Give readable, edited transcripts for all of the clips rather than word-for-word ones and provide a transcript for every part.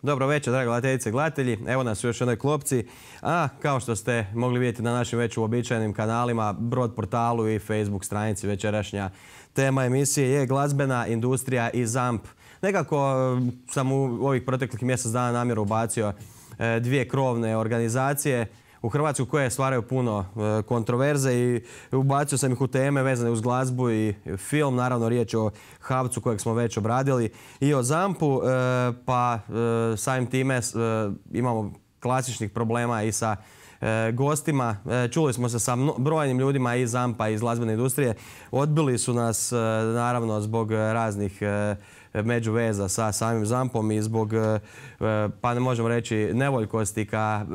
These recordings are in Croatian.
Dobro večer, drage gledateljice i gledatelji. Evo nas u još jednoj klopci. A kao što ste mogli vidjeti na našim već uobičajenim kanalima, Brod portalu i Facebook stranici, večerašnja tema emisije je glazbena industrija i ZAMP. Nekako sam u ovih proteklih mjesec dana namjerno ubacio dvije krovne organizacije u Hrvatsku koje stvaraju puno kontroverze i ubacio sam ih u teme vezane uz glazbu i film. Naravno, riječ je o HAVC-u kojeg smo već obradili i o ZAMP-u, pa samim time imamo klasičnih problema i sa gostima. Čuli smo se sa brojnim ljudima iz ZAMP-a i iz glazbene industrije. Odbili su nas naravno zbog raznih međuveza sa samim ZAMP-om i zbog, pa ne možemo reći, nevoljkosti ka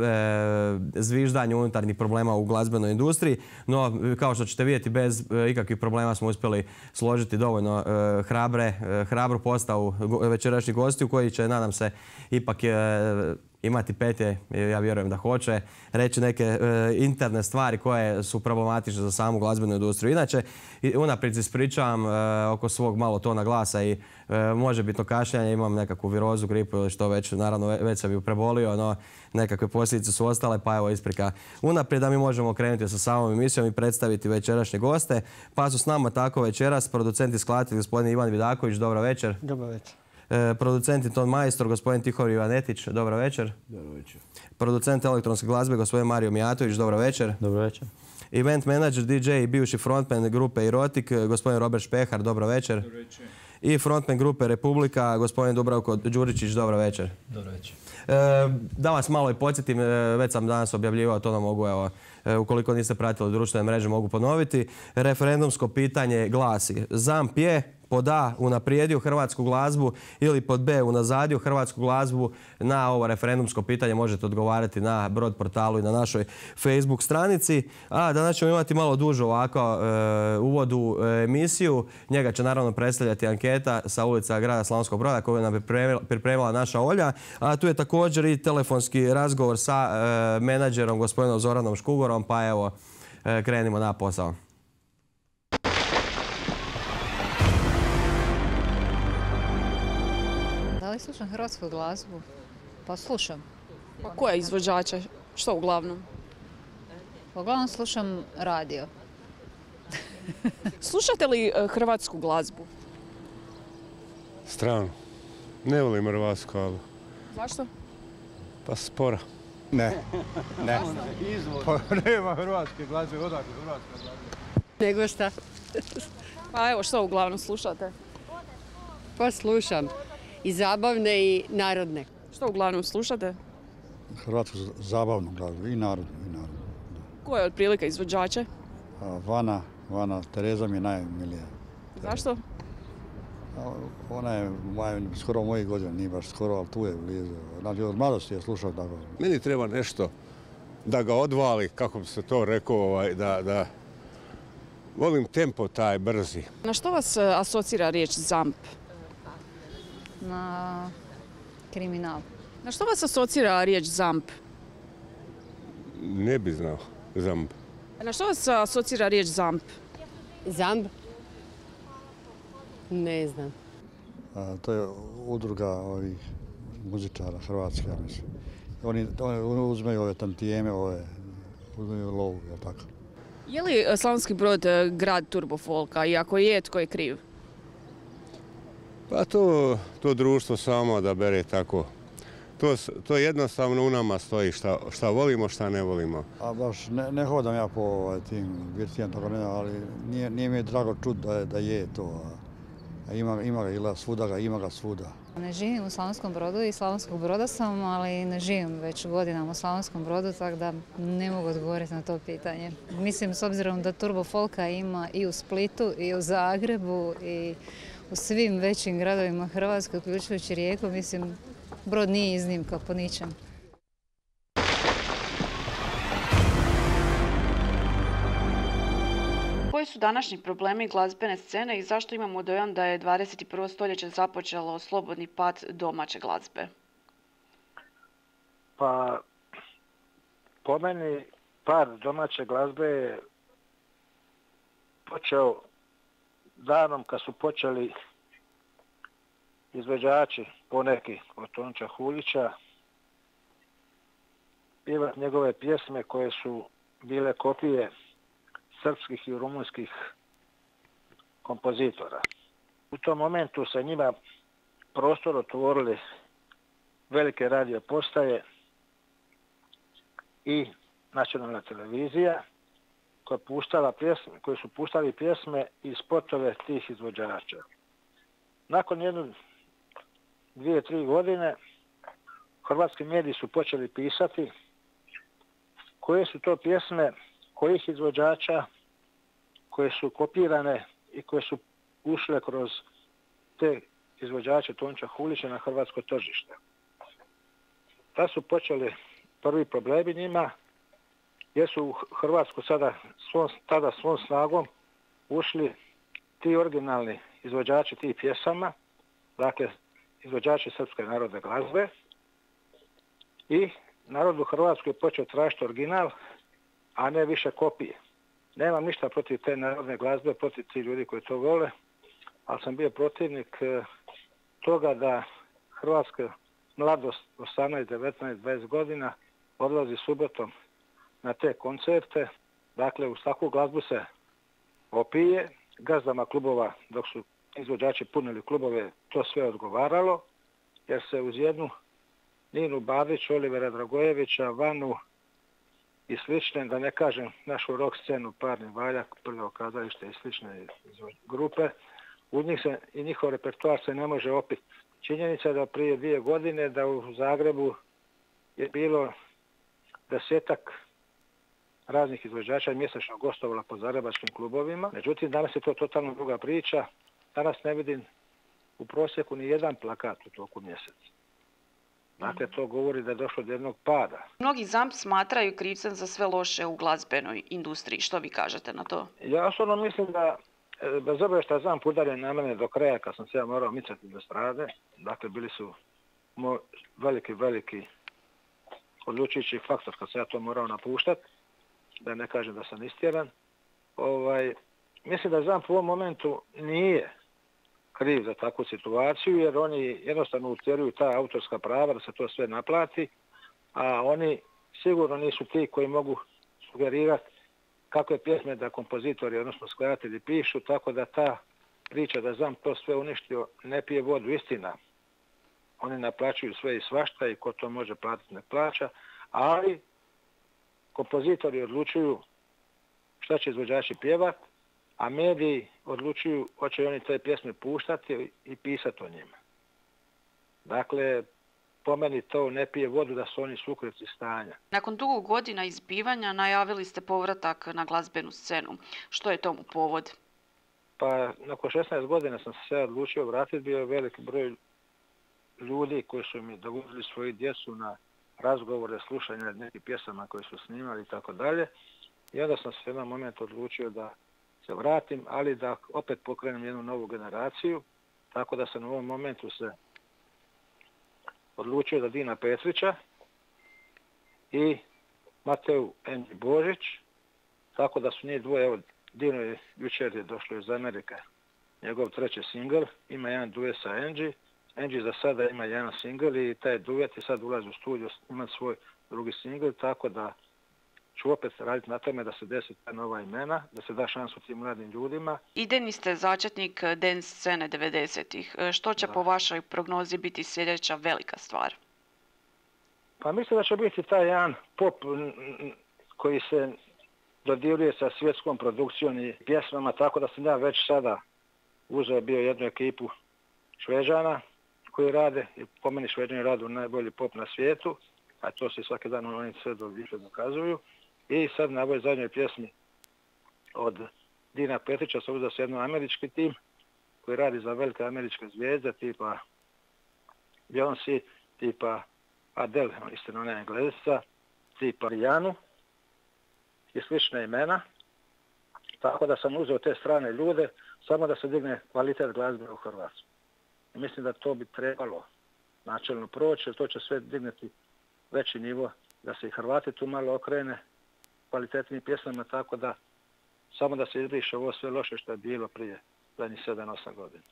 zviždanju unutarnjih problema u glazbenoj industriji. No, kao što ćete vidjeti, bez ikakvih problema smo uspjeli složiti dovoljno hrabru postavu večerašnjih gostiju koji će, nadam se, ipak imati petlje, ja vjerujem da hoće, reći neke interne stvari koje su problematične za samu glazbenu industriju. Inače, unaprijed se ispričavam oko svog malo tona glasa i možebitno kašljanje, imam nekakvu virozu, gripu ili što već, naravno već sam ju prebolio, no nekakve posljedice su ostale, pa evo isprika unaprijed da mi možemo krenuti sa samom emisijom i predstaviti večerašnje goste. Pa su s nama tako večeras producent i skladatelj gospodin Ivan Vidaković, dobro večer. Dobro večer. Producent i ton majstor, gospodin Tihomir Ivanetić, dobro večer. Dobro večer. Producent elektronske glazbe, gospodin Mario Mijatović, dobro večer. Dobro večer. Event manager, DJ i bivši frontman grupe Erotik, gospodin Robert Špehar, dobro večer. Dobro večer. I frontman grupe Republika, gospodin Dubravko Đuričić, dobro večer. Dobro večer. Da vas malo i podsjetim, već sam danas objavljivao, to nam mogu, evo, ukoliko niste pratili društvene mreže, mogu ponoviti. Referendumsko pitanje glasi: ZAMP je pod A unaprijedio hrvatsku glazbu ili pod B unazadio hrvatsku glazbu? Na ovo referendumsko pitanje možete odgovarati na Brod portalu i na našoj Facebook stranici. A danas ćemo imati malo dužu ovako uvod u emisiju. Njega će naravno predstavljati anketa sa ulica grada Slavonskog Broda koju nam je pripremila naša Olja. A tu je također i telefonski razgovor sa menadžerom gospodinom Zoranom Škugorom. Pa evo, krenimo na posao. Da li slušam hrvatsku glazbu? Pa slušam. Pa koje izvođače? Što uglavnom? Uglavnom slušam radio. Slušate li hrvatsku glazbu? Strano. Ne volim hrvatsku, ali... Zašto? Pa spora. Ne. Pa nema hrvatske glazbe, odakle hrvatska glazba? Nego šta? Pa evo, što uglavnom slušate? Pa slušam i zabavne i narodne. Što uglavnom slušate? Hrvatsku zabavnu glazbu i narodnu. Koje je otprilike izvođače? Vana, Tereza mi je najmilija. Zašto? Ona je skoro mojih godina, nije baš skoro, ali tu je blizu. Znači, od mladosti je slušao tako. Meni treba nešto da ga odvali, kako bi se to rekao, da volim tempo taj brzi. Na što vas asocira riječ ZAMP? Na kriminal. Na što vas asocira riječ ZAMP? Ne bi znao ZAMP. Na što vas asocira riječ ZAMP? ZAMP? Ne znam. To je udruga ovih muzičara hrvatskih, ja mislim. Oni uzmeju ove tantijeme, uzmeju lovu, je li tako? Je li Slavonski Brod grad turbofolka i ako je, tko je kriv? Pa to društvo samo da bere tako. To jednostavno u nama stoji, šta volimo, šta ne volimo. A baš ne hodam ja po tim birtijama, tako ne, ali nije mi drago čuti da je to. A ima ga svuda, ima ga svuda. Ne živim u Slavonskom Brodu i Slavonskog Broda sam, ali ne živim već godinama u Slavonskom Brodu, tako da ne mogu odgovoriti na to pitanje. Mislim, s obzirom da turbo folka ima i u Splitu, i u Zagrebu, i u svim većim gradovima Hrvatske, uključujući Rijeku, mislim, Brod nije iznimka po ničem. Koji su današnji problemi glazbene scene i zašto imamo dojam da je 21. stoljeće započelo slobodni pad domaće glazbe? Pa, po meni, pad domaće glazbe je počeo danom kad su počeli izvođači, poneki od Tonča Hulića, pjevati njegove pjesme koje su bile kopije srpskih i rumunskih kompozitora. U tom momentu se njima prostor otvorili velike radio postaje i nacionalna televizija koji su puštali pjesme i spotove tih izvođača. Nakon 2-3 godine hrvatski mediji su počeli pisati koje su to pjesme kojih izvođača koje su kopirane i koje su ušle kroz te izvođače Tonča Hulića na hrvatsko tržište. Da su počeli prvi problemi njima, jer su u Hrvatsku tada svom snagom ušli ti originalni izvođači tih pjesama, dakle izvođači srpske narodne glazbe, i narod u Hrvatskoj je počeo tražiti original, a ne više kopije. Nemam ništa protiv te narodne glazbe, protiv tih ljudi koji to vole, ali sam bio protivnik toga da hrvatska mladost 18, 19, 20 godina odlazi subotom na te koncerte. Dakle, uz takvu glazbu se opije, gazdama klubova, dok su izvođači punili klubove, to sve odgovaralo, jer se uz jednu Ninu Babić, Olivera Dragojevića, Vanu i slične, da ne kažem našu rock scenu, Parni valjak, Prljavo kazalište i slične grupe, u njih se i njihov repertoar se ne može opiti. Činjenica je da prije 2 godine da u Zagrebu je bilo 10-ak raznih izvođača mjesečno gostovala po zagrebačkim klubovima. Međutim, danas je to totalno druga priča. Danas ne vidim u prosjeku ni jedan plakat u toku mjeseca. Dakle, to govori da je došlo do jednog pada. Mnogi ZAMP smatraju krivcem za sve loše u glazbenoj industriji. Što vi kažete na to? Ja osobno mislim da, bez obzira što je ZAMP udario na mene do kraja kad sam se ja morao micati do strade, dakle bili su veliki odlučujući faktor kad se ja to morao napuštati, da ne kažem da sam istjeran. Mislim da ZAMP u ovom momentu nije kriv za takvu situaciju, jer oni jednostavno utjeruju ta autorska prava da se to sve naplati, a oni sigurno nisu ti koji mogu sugerirati kakve pjesme da kompozitori, odnosno skladatelji pišu, tako da ta priča da ZAMP to sve uništio ne pije vodu, istina. Oni naplaćuju sve i svašta i ko to može platiti ne plaća, ali kompozitori odlučuju šta će izvođači pjevati, a mediji odlučuju hoće oni te pjesme puštati i pisati o njima. Dakle, po meni to ne pije vodu da su oni sukrivci stanja. Nakon dugo godina izbivanja najavili ste povratak na glazbenu scenu. Što je tomu povod? Pa, nakon 16 godina sam se odlučio vratiti. Bio je veliki broj ljudi koji su mi dovodili svoju djecu na razgovore, slušanje nekih pjesama koje su snimali i tako dalje. I onda sam se u jednom momentu odlučio da se vratim, ali da opet pokrenem jednu novu generaciju. Tako da sam u ovom momentu se odlučio da Dina Petrića i Mateu Enđi Božić, tako da su njih dvoje, evo Dino je jučer je došlo iz Amerike, njegov 3. singl, ima jedan duet sa Enđi. Enđi za sada ima jedan singl i taj duet je sad ulazi u studio imati svoj drugi singl, tako da ću opet raditi na tome da se desi ta nova imena, da se da šansu tim mladim ljudima. Idejni ste začetnik dance scene 90-ih. Što će po vašoj prognozi biti sljedeća velika stvar? Pa mislim da će biti taj jedan pop koji se dodiruje sa svjetskom produkcijom i pjesmama, tako da sam ja već sada uzeo bio jednu ekipu Šveđana koji rade, i po meni Šveđani rade najbolji pop na svijetu, a to se svaki dan oni sve dokazuju. I sad na ovoj zadnjoj pjesmi od Dina Petrića se uzeo se jedno američki tim koji radi za velike američke zvijezde tipa Beyoncé, tipa Adele, istina ona je Englesica, tipa Rihanna i slične imena. Tako da sam uzeo te strane ljude samo da se digne kvalitet glazbe u Hrvatskoj. I mislim da to bi trebalo načelno proći, jer to će sve digneti veći nivo, da se i Hrvati tu malo okrene kvalitetnim pjesmama, tako da samo da se izbriše ovo sve loše što je bilo prije zadnjih 7-8 godina.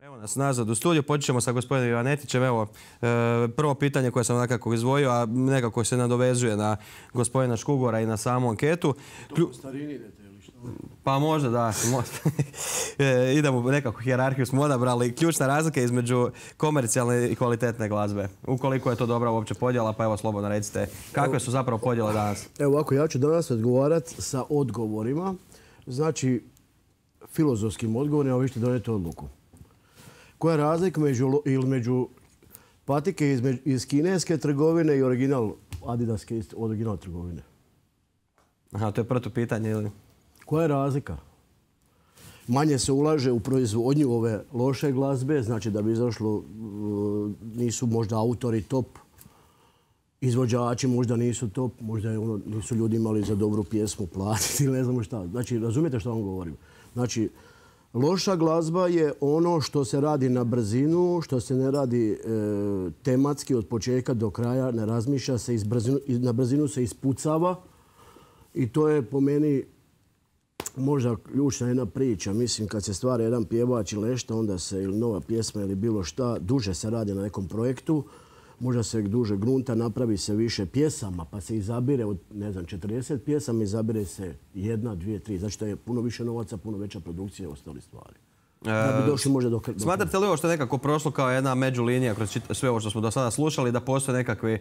Evo nas nazad u studiju, počet ćemo sa gospodinom Ivanetićem. Evo, prvo pitanje koje sam nekako izdvojio, a nekako se nadovezuje na gospodina Škugora i na samu anketu. To po starini idete ili što? Pa možda da. Idemo u nekakvu hijerarhiju smo odabrali. Ključna razlika između komercijalne i kvalitetne glazbe. Ukoliko je to dobra uopće podjela, pa evo slobodno recite kakve su zapravo podjele danas? Evo ovako, ja ću danas odgovarati sa odgovorima. Znači, filozofskim odgovorima, vi ćete donijeti odluku. Koja je razlika među patike iz kineske trgovine i original adidaske original trgovine? Aha, to je protupitanje ili? Koja je razlika? Manje se ulaže u proizvodnju ove loše glazbe, znači da bi izašlo, nisu možda autori top, izvođači možda nisu top, možda nisu ljudi imali za dobru pjesmu platiti ili ne znamo šta. Znači, razumijete što vam govorim? Znači, loša glazba je ono što se radi na brzinu, što se ne radi tematski od početka do kraja, ne razmišlja se, na brzinu se ispucava i to je po meni možda ključna jedna priča. Mislim, kad se stvara jedan pjevač ili nešto, onda se ili nova pjesma ili bilo šta, duže se radi na nekom projektu, možda se duže grunta, napravi se više pjesama, pa se izabire od, ne znam, 40 pjesama, izabire se 1, 2, 3. Znači da je puno više novaca, puno veća produkcija i ostali stvari. Da bi došli možda do... Smatrate li ovo što je nekako prošlo kao jedna međulinija kroz sve ovo što smo do sada slušali, da postoje nekakvi,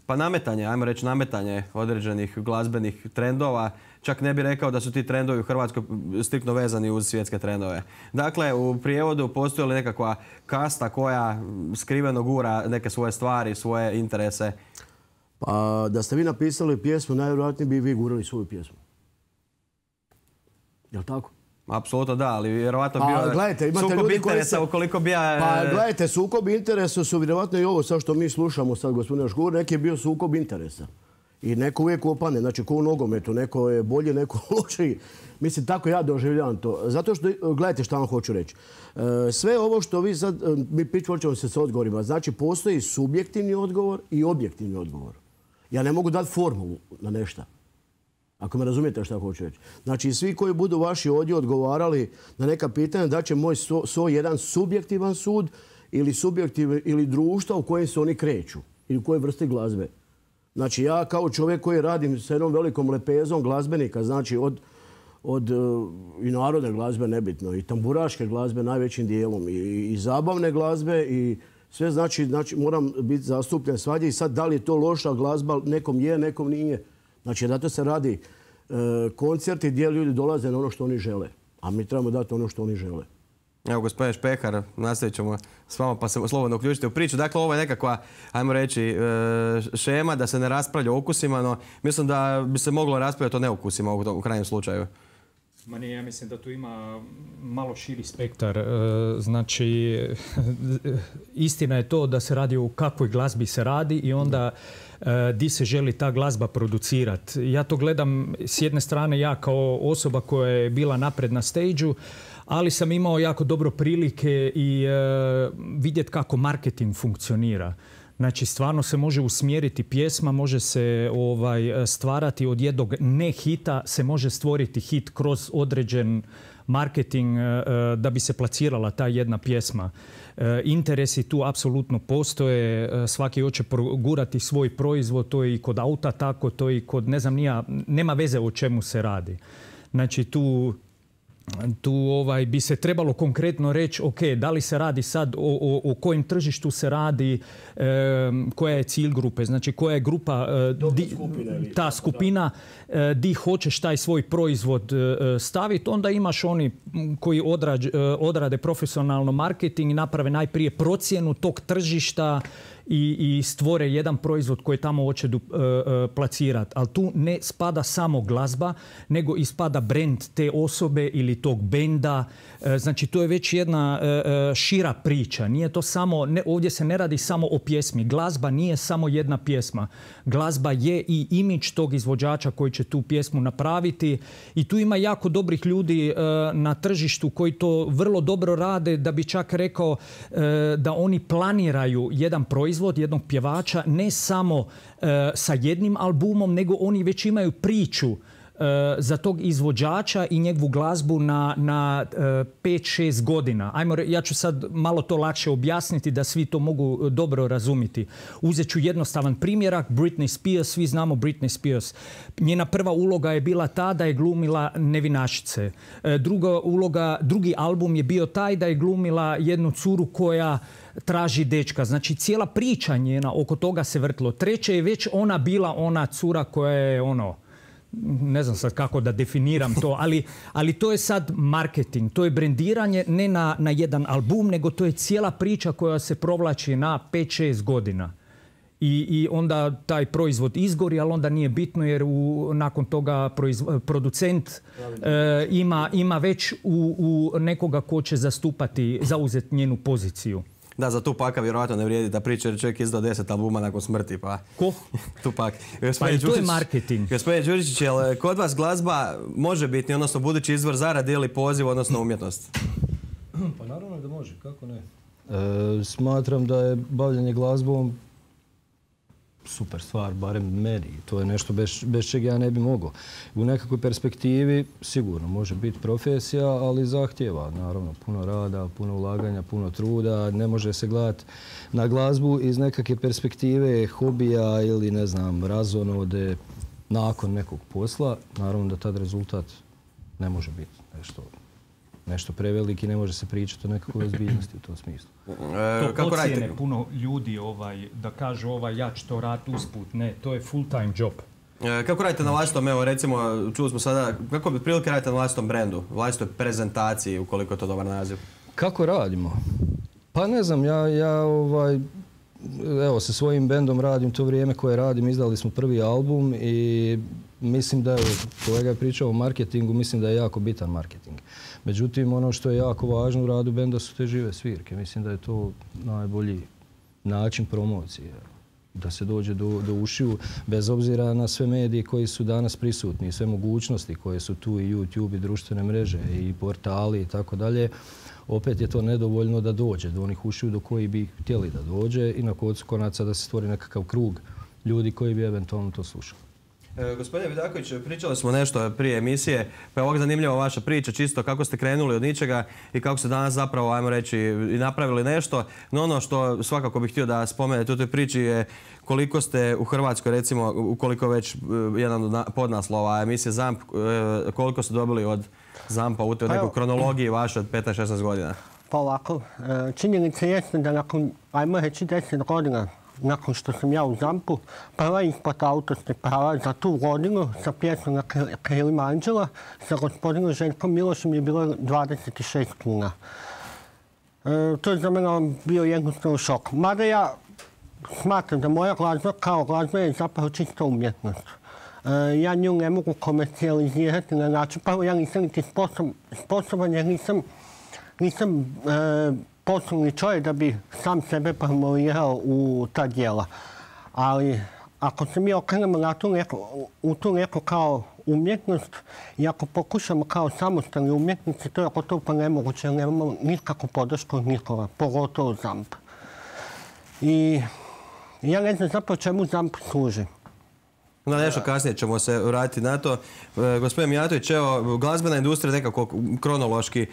pa nametanje, ajmo reći nametanje određenih glazbenih trendova? Čak ne bih rekao da su ti trendovi u Hrvatskoj striktno vezani uz svjetske trendove. Dakle, u prijevodu postoji li nekakva kasta koja skriveno gura neke svoje stvari, svoje interese? Pa da ste vi napisali pjesmu, najvjerojatnije bi vi gurali svoju pjesmu. Je li tako? Apsolutno da, ali vjerovatno bio sukob interesa ukoliko bi ja... Pa gledajte, sukob interesa su vjerovatno i ovo sad što mi slušamo sad gospodina Škugora, neki je bio sukob interesa. I neko uvijek opane, znači ko u nogometu, neko je bolji, neko lošiji. Mislim, tako ja doživljavam to. Zato što, gledajte šta vam hoću reći. Sve ovo što vi sad, mi pričamo se s odgovorima, znači postoji subjektivni odgovor i objektivni odgovor. Ja ne mogu dati formulu na nešto. Ako me razumijete šta hoću reći. Znači, svi koji budu vaši ovdje odgovarali na neka pitanja, da će moj jedan subjektivan sud ili društva u kojem se oni kreću ili u kojoj vrsti glazbe. Znači, ja kao čovjek koji radim s jednom velikom lepezom glazbenika, znači od i narodne glazbe nebitno, i tamburaške glazbe najvećim dijelom, i zabavne glazbe, i sve znači moram biti zastupljen svađe i sad da li je to loša glazba, nekom je, nekom nije. Znači, zato se radi koncerti gdje ljudi dolaze na ono što oni žele, a mi trebamo dati ono što oni žele. Evo, gospodin Špehar, nastavit ćemo s vama pa se slobodno uključite u priču. Dakle, ovo je nekakva, ajmo reći, šema da se ne raspravlja o ukusima, no mislim da bi se moglo raspravljati o neukusima u krajnjem slučaju. Ja mislim da tu ima malo širi spektar. Znači, istina je to da se radi o kakvoj glazbi se radi i onda di se želi ta glazba producirati. Ja to gledam s jedne strane ja kao osoba koja je bila napred na stage-u, ali sam imao jako dobro prilike i vidjeti kako marketing funkcionira. Znači, stvarno se može usmjeriti pjesma, može se stvarati od jednog ne hita, se može stvoriti hit kroz određen marketing da bi se plasirala ta jedna pjesma. Interesi tu apsolutno postoje, svaki hoće progurati svoj proizvod, to je i kod auta tako, to je i kod, ne znam, nema veze o čemu se radi. Znači, tu bi se trebalo konkretno reći, ok, da li se radi sad o kojem tržištu se radi, koja je cilj grupe, znači koja je grupa, ta skupina di hoćeš taj svoj proizvod staviti, onda imaš oni koji odrade profesionalno marketing i naprave najprije procjenu tog tržišta i stvore jedan proizvod koji tamo hoće plasirati. Ali tu ne spada samo glazba, nego i spada brand te osobe ili tog benda. Znači, to je već jedna šira priča. Nije to samo, ovdje se ne radi samo o pjesmi. Glazba nije samo jedna pjesma. Glazba je i imidž tog izvođača koji će tu pjesmu napraviti. I tu ima jako dobrih ljudi na tržištu koji to vrlo dobro rade, da bi čak rekao da oni planiraju jedan proizvod, jednog pjevača, ne samo sa jednim albumom, nego oni već imaju priču za tog izvođača i njegovu glazbu na 5-6 godina. Ja ću sad malo to lakše objasniti da svi to mogu dobro razumjeti. Uzet ću jednostavan primjerak. Britney Spears, svi znamo Britney Spears. Njena prva uloga je bila ta da je glumila nevinašice. Drugi album je bio taj da je glumila jednu curu koja traži dečka. Znači, cijela priča njena oko toga se vrtilo. Treće je već ona bila ona cura koja je ne znam sad kako da definiram to, ali to je sad marketing, to je brendiranje ne na jedan album, nego to je cijela priča koja se provlači na 5-6 godina. I onda taj proizvod izgori, ali onda nije bitno jer nakon toga producent ima već u nekoga ko će zauzeti njenu poziciju. Da, za Tupaka vjerojatno ne vrijedi da priča jer čovjek izdao 10 albuma nakon smrti, pa... Ko? Tupak. Pa i to je marketing. Gospodin Đuričić, jel kod vas glazba može biti, odnosno budući izvor zarade ili poziv, odnosno umjetnost? Pa naravno da može, kako ne. Smatram da je bavljanje glazbom super stvar, barem meni. To je nešto bez čega ja ne bi mogao. U nekakvoj perspektivi sigurno može biti profesija, ali zahtjeva naravno puno rada, puno ulaganja, puno truda. Ne može se gledati na glazbu iz nekakve perspektive hobija ili ne znam, razonode nakon nekog posla. Naravno da tad rezultat ne može biti nešto preveliki, ne može se pričati o nekakvoj ozbiljnosti u tom smislu. To pocijene puno ljudi da kažu ja ću to raditi usput. Ne, to je full time job. Kako radite na vlastitom, evo recimo, čuli smo sada, kako bi prilike radite na vlastitom brendu, vlastitoj prezentaciji, ukoliko je to dobar naziv? Kako radimo? Pa ne znam, evo sa svojim bendom radim to vrijeme koje radim, izdali smo prvi album i mislim da je, kolega je pričao o marketingu, mislim da je jako bitan marketing. Međutim, ono što je jako važno u radu benda su te žive svirke. Mislim da je to najbolji način promocije. Da se dođe do ušiju, bez obzira na sve medije koji su danas prisutni, sve mogućnosti koje su tu i YouTube i društvene mreže i portali i tako dalje. Opet je to nedovoljno da dođe do onih ušiju do koji bi htjeli da dođe i na koncu konaca da se stvori nekakav krug ljudi koji bi eventualno to slušali. Gospodine Vidaković, pričali smo nešto prije emisije, pa je ovak zanimljiva vaša priča, čisto kako ste krenuli od ničega i kako ste danas zapravo, ajmo reći, i napravili nešto. No ono što svakako bih htio da spomenete u toj priči je koliko ste u Hrvatskoj, recimo, ukoliko već jedan od podnaslova emisije ZAMP, koliko ste dobili od ZAMP-a u toj nekoj kronologiji vaše od 15-16 godina? Pa ovako, činjenica jeste da nakon, ajmo reći 10 godina, nakon što sam ja u ZAMP-u, prva isplata autorskih prava za tu godinu sa pjesmom na krilima Anđela sa gospodinom Željkom Milošem je bilo 26 kuna. To je za mene bio jednostavno šok. Mada ja smatram da moja glazba kao glazba je zapravo čista umjetnost. Ja nju ne mogu komercijalizirati na način, pa ja nisam niti sposoban jer nisam poslovni čovjek da bi sam sebe promovirao u ta djela. Ali ako se mi okrenemo u tu neku kao umjetnost i ako pokušamo kao samostalni umjetnici, to je gotovo pa nemoguće jer nemamo nikakvu podršku od nikoga, pogotovo ZAMP. I ja ne znam zapravo čemu ZAMP služi. Na nešto kasnije ćemo se vratiti na to. Gospodin Mijatović, evo, glazbena industrija nekako kronološki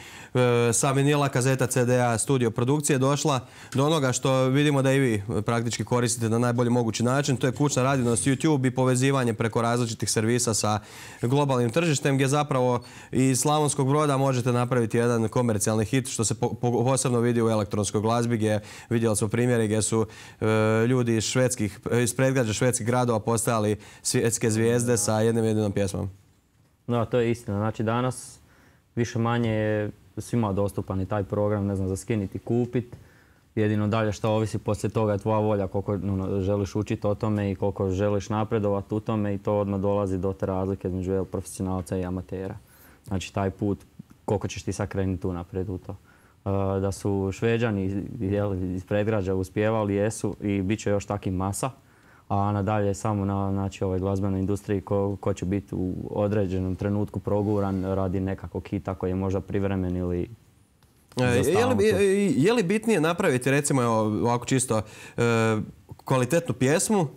sa vinila, kazeta, CD-a, studio produkcije došla do onoga što vidimo da i vi praktički koristite na najbolji mogući način. To je kućna radionost, YouTube i povezivanje preko različitih servisa sa globalnim tržištem gdje zapravo iz Slavonskog Broda možete napraviti jedan komercijalni hit što se posebno vidi u elektronskoj glazbi gdje vidjeli smo primjere gdje su ljudi iz predgrađa švedskih gradova postajali svjetske zvijezde sa jedinom pjesmom. Da, to je istina. Znači danas više manje je svima dostupan i taj program, ne znam, za skiniti, kupiti. Jedino dalje što ovisi poslije toga je tvoja volja koliko želiš učiti o tome i koliko želiš napredovati u tome i to odmah dolazi do te razlike između profesionalca i amatera. Znači taj put, koliko ćeš ti sad krenuti tu naprijed u to. Da su Šveđani iz predgrađa uspjevali, jesu i bit će još takvih masa. A nadalje samo na ovoj glazbenoj industriji ko će biti u određenom trenutku proguran radi nekakvog hita koji je možda privremen ili je li bitnije napraviti recimo ovako čisto kvalitetnu pjesmu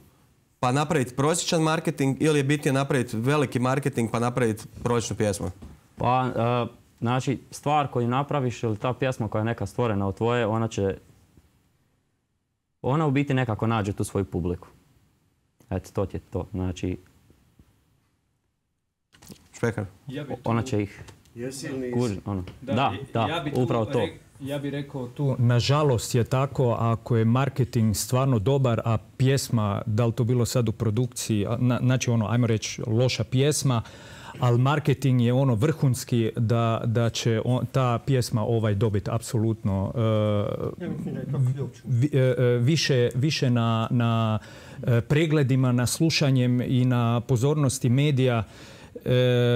pa napraviti prosječan marketing ili je bitnije napraviti veliki marketing pa napraviti prosječnu pjesmu? Pa, znači, stvar koju napraviš ili ta pjesma koja je neka stvorena od tvoje, ona u biti nekako nađe tu svoju publiku. Eto, to ti je to. Znači, Špekar. Ona će ih kužiti. Da, upravo to. Ja bih rekao tu, nažalost je tako, ako je marketing stvarno dobar, a pjesma, da li to bilo sad u produkciji, znači ajmo reći loša pjesma, ali marketing je vrhunski da će ta pjesma dobiti apsolutno više na pregledima, na slušanjem i na pozornosti medija.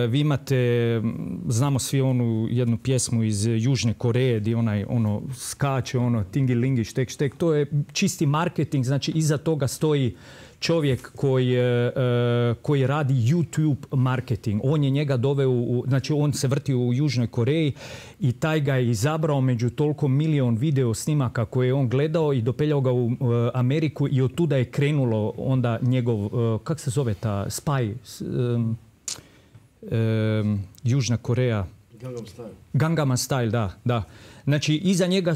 Vi imate, znamo svi onu jednu pjesmu iz Južne Koreje gdje skače, tingi-lingi, štek. To je čisti marketing, znači iza toga stoji čovjek koji radi YouTube marketing. On je njega doveo, znači on se vrti u Južnoj Koreji i taj ga je izabrao među toliko milion video snimaka koje je on gledao i dopeljao ga u Ameriku i od tuda je krenulo onda njegov, kak se zove ta Spy, Južna Koreja. Gangnam Style, da. Znači, iza njega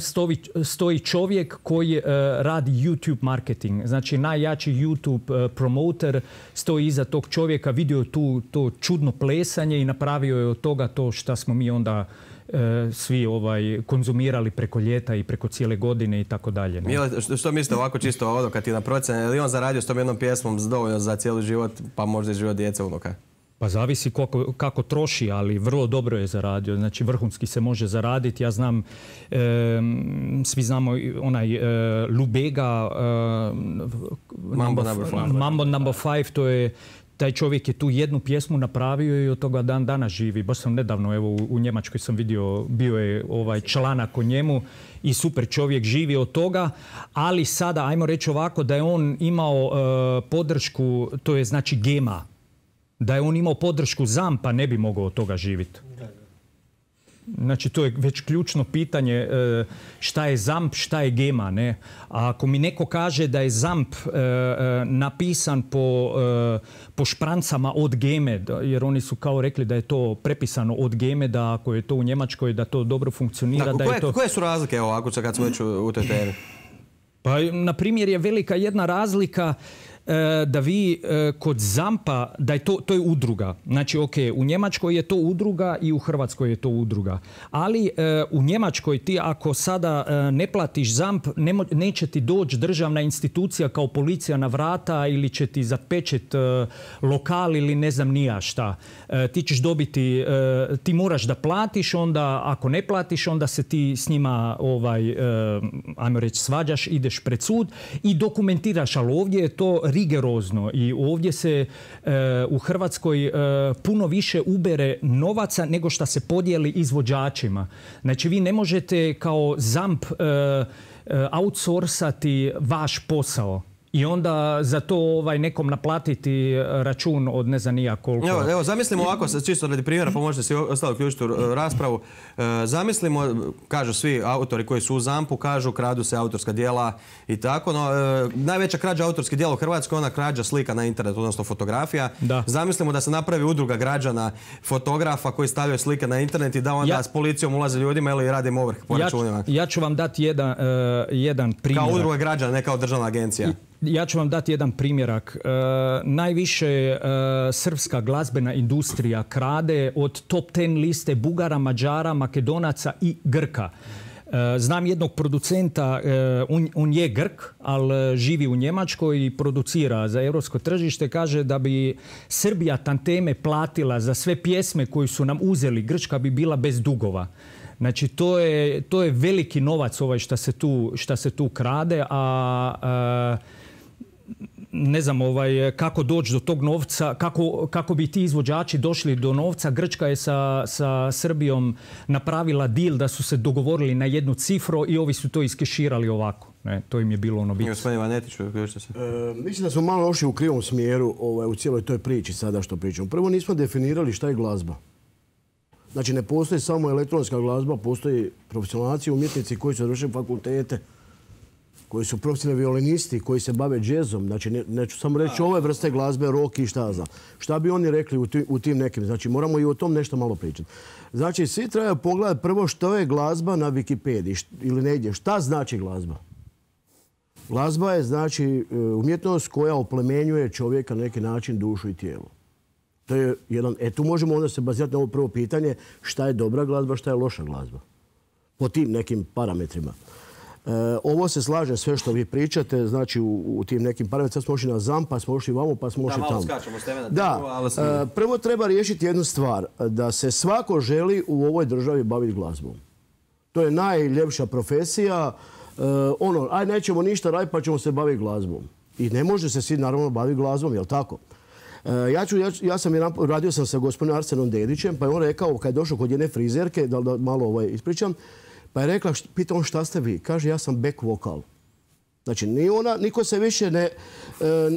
stoji čovjek koji radi YouTube marketing. Znači, najjači YouTube promoter stoji iza tog čovjeka, vidio to čudno plesanje i napravio je od toga to što smo mi onda svi konzumirali preko ljeta i preko cijele godine i tako dalje. Što mislite ovako čisto kad ti na procjene, je li on zaradio s tom jednom pjesmom dovoljno za cijeli život, pa možda i život djece unuka? Pa zavisi kako troši, ali vrlo dobro je zaradio. Znači vrhunski se može zaraditi. Ja znam, svi znamo onaj Lubega, Mambo No. 5, to je taj čovjek je tu jednu pjesmu napravio i od toga dan danas živi. Baš sam nedavno, evo u Njemačkoj sam vidio, bio je članak o njemu i super čovjek živi od toga, ali sada, ajmo reći ovako, da je on imao podršku, to je znači Gema. Da je on imao podršku ZAMP-a, ne bi mogao od toga živjeti. Znači, to je već ključno pitanje šta je ZAMP, šta je Gema, ne? A ako mi neko kaže da je ZAMP napisan po šprancama od Geme, jer oni su kao rekli da je to prepisano od Geme, da ako je to u Njemačkoj, da to dobro funkcionira. Koje su razlike ovako kad smo već u toj temi? Pa, na primjer, je velika jedna razlika da vi kod ZAMP-a, da je to je udruga. Znači, u Njemačkoj je to udruga i u Hrvatskoj je to udruga. Ali u Njemačkoj ti ako sada ne platiš ZAMP, neće ti doći državna institucija kao policija na vrata ili će ti zapečet lokal ili ne znam ni ja šta. Ti ćeš dobiti, ti moraš da platiš, onda ako ne platiš, onda se ti s njima ajmo reći svađaš, ideš pred sud i dokumentiraš, ali ovdje je to rigorozno i ovdje se u Hrvatskoj puno više ubere novaca nego što se podijeli izvođačima. Znači vi ne možete kao ZAMP outsourcati vaš posao i onda za to nekom naplatiti račun od ne znam nija koliko. Evo, zamislimo ovako, čisto radi primjera, pa možete si ostalo uključiti u raspravu. Zamislimo, kažu svi autori koji su u ZAMP-u, kažu kradu se autorska djela i tako, no najveća krađa autorskih djela u Hrvatskoj je ona krađa slika na internetu, odnosno fotografija. Da. Zamislimo da se napravi udruga građana fotografa koji stavljaju slike na internet i da onda s policijom ulaze ljudima ili radim ovrh po računima. Ja ću vam dati jedan primjer. Kao udruga građana, ne kao državna agencija. Ja ću vam dati jedan primjerak. Najviše srpska glazbena industrija krade od top 10 liste Bugara, Mađara, Makedonaca i Grka. Znam jednog producenta, on je Grk, ali živi u Njemačkoj i producira za europsko tržište. Kaže da bi Srbija tanteme platila za sve pjesme koje su nam uzeli, Grčka bi bila bez dugova. Znači, to je veliki novac šta se tu krade, a ne znam kako doći do tog novca, kako bi ti izvođači došli do novca. Grčka je sa Srbijom napravila deal da su se dogovorili na jednu cifru i ovi su to iskeširali ovako. To im je bilo ono bitno. Gospodin Vanetić, mislim da smo malo ošli u krivom smjeru u cijeloj toj priči sada što pričamo. Prvo nismo definirali šta je glazba. Znači ne postoji samo elektronska glazba, postoji profesionalci, umjetnici koji su završili fakultete, koji su profesionalni violinisti, koji se bave džezom. Znači, neću samo reći ove vrste glazbe, rock i šta znam. Šta bi oni rekli u tim nekim? Znači, moramo i o tom nešto malo pričati. Znači, svi trebaju pogledati prvo što je glazba na Wikipediji ili negdje. Šta znači glazba? Glazba je, znači, umjetnost koja oplemenjuje čovjeka na neki način, dušu i tijelo. To je jedan... tu možemo onda se bazirati na ovo prvo pitanje šta je dobra glazba, šta je loša glazba. Po tim nekim parametrima. Ovo se slaže sve što vi pričate, znači u tim nekim parametrima. Sad smo ošli na ZAMP, pa smo ošli vamo, pa smo ošli tamo. Da, malo skačemo s teme na temu, ali... Prvo treba riješiti jednu stvar, da se svako želi u ovoj državi baviti glazbom. To je najljepša profesija. Nećemo ništa raditi pa ćemo se baviti glazbom. I ne može se svi naravno baviti glazbom, jel tako? Radio sam sa gospodinom Arsenom Dedićem, pa je on rekao, kad je došao kod jedne frizerke, da malo ispričam, pa je rekla, pita on šta ste vi? Kaže, ja sam back vokal. Znači, niko se više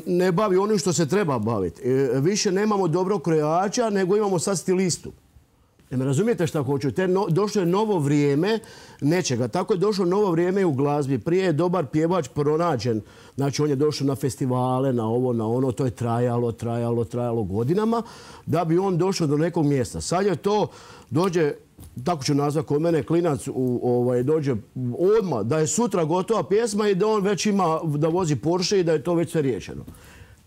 ne bavi onim što se treba baviti. Više nemamo dobrog krojača, nego imamo sad stilistu. Ne razumijete šta hoću? Došlo je novo vrijeme nečega. Tako je došlo novo vrijeme i u glazbi. Prije je dobar pjevač pronađen. Znači, on je došao na festivale, na ovo, na ono. To je trajalo godinama da bi on došao do nekog mjesta. Sad je to, dođe, tako ću nazvati kod mene, klinac dođe odmah da je sutra gotova pjesma i da on već ima, da vozi Porsche i da je to već sve riješeno.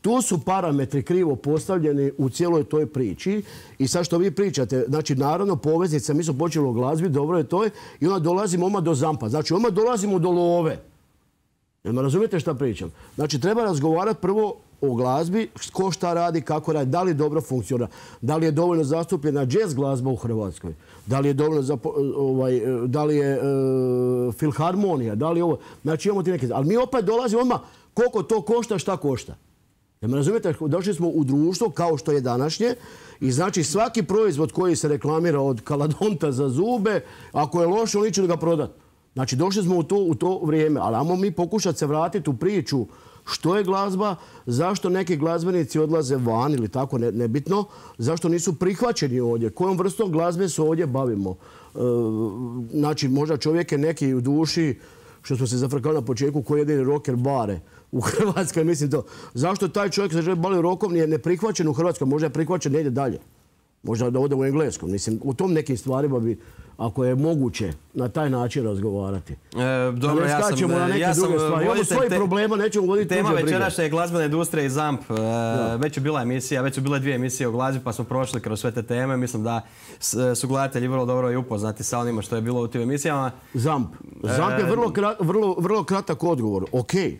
Tu su parametri krivo postavljeni u cijeloj toj priči i sad što vi pričate, znači naravno poveznica, mi smo počeli o glazbi, dobro je to i onda dolazimo odmah do ZAMP-a. Znači odmah dolazimo do love. Jel me razumijete šta pričam? Znači treba razgovarati prvo o glazbi, ko šta radi, kako radi, da li dobro funkcionira, da li je dovoljno zastupljena jazz glazba u Hrvatskoj, da li je dovoljno da li je filharmonija, da li je ovo. Znači imamo ti neke... Ali mi opet dolazimo odmah koliko to košta, šta košta. Jel me razumijete? Došli smo u društvo kao što je današnje i znači svaki proizvod koji se reklamira od kaladonta za zube, ako je loš, on neće ga prodati. Znači došli smo u to vrijeme, ali ajmo mi pokušati se vratiti u priču što je glazba, zašto neki glazbenici odlaze van ili tako, nebitno, zašto nisu prihvaćeni ovdje, kojom vrstom glazbe se ovdje bavimo. Znači možda čovjek je neki u duši, što smo se zafrkali na početku, koji jedini rocker bare u Hrvatskoj, mislim to. Zašto taj čovjek se želi baviti rokom nije neprihvaćen u Hrvatskoj, možda je prihvaćen negdje dalje. Možda da ode u engleskom. Mislim, u tom nekim stvarima bi, ako je moguće, na taj način razgovarati. Dobro, ja sam imamo svoje problema, nećemo voditi tuđe brige. Tema večerašnja je glazbena industrija i ZAMP. Već je bila emisija, već su bile 2 emisije o glazbi, pa smo prošli kroz sve te teme. Mislim da su gledatelji vrlo dobro i upoznati sa onima što je bilo u tim emisijama. ZAMP je vrlo kratak odgovor. Okej,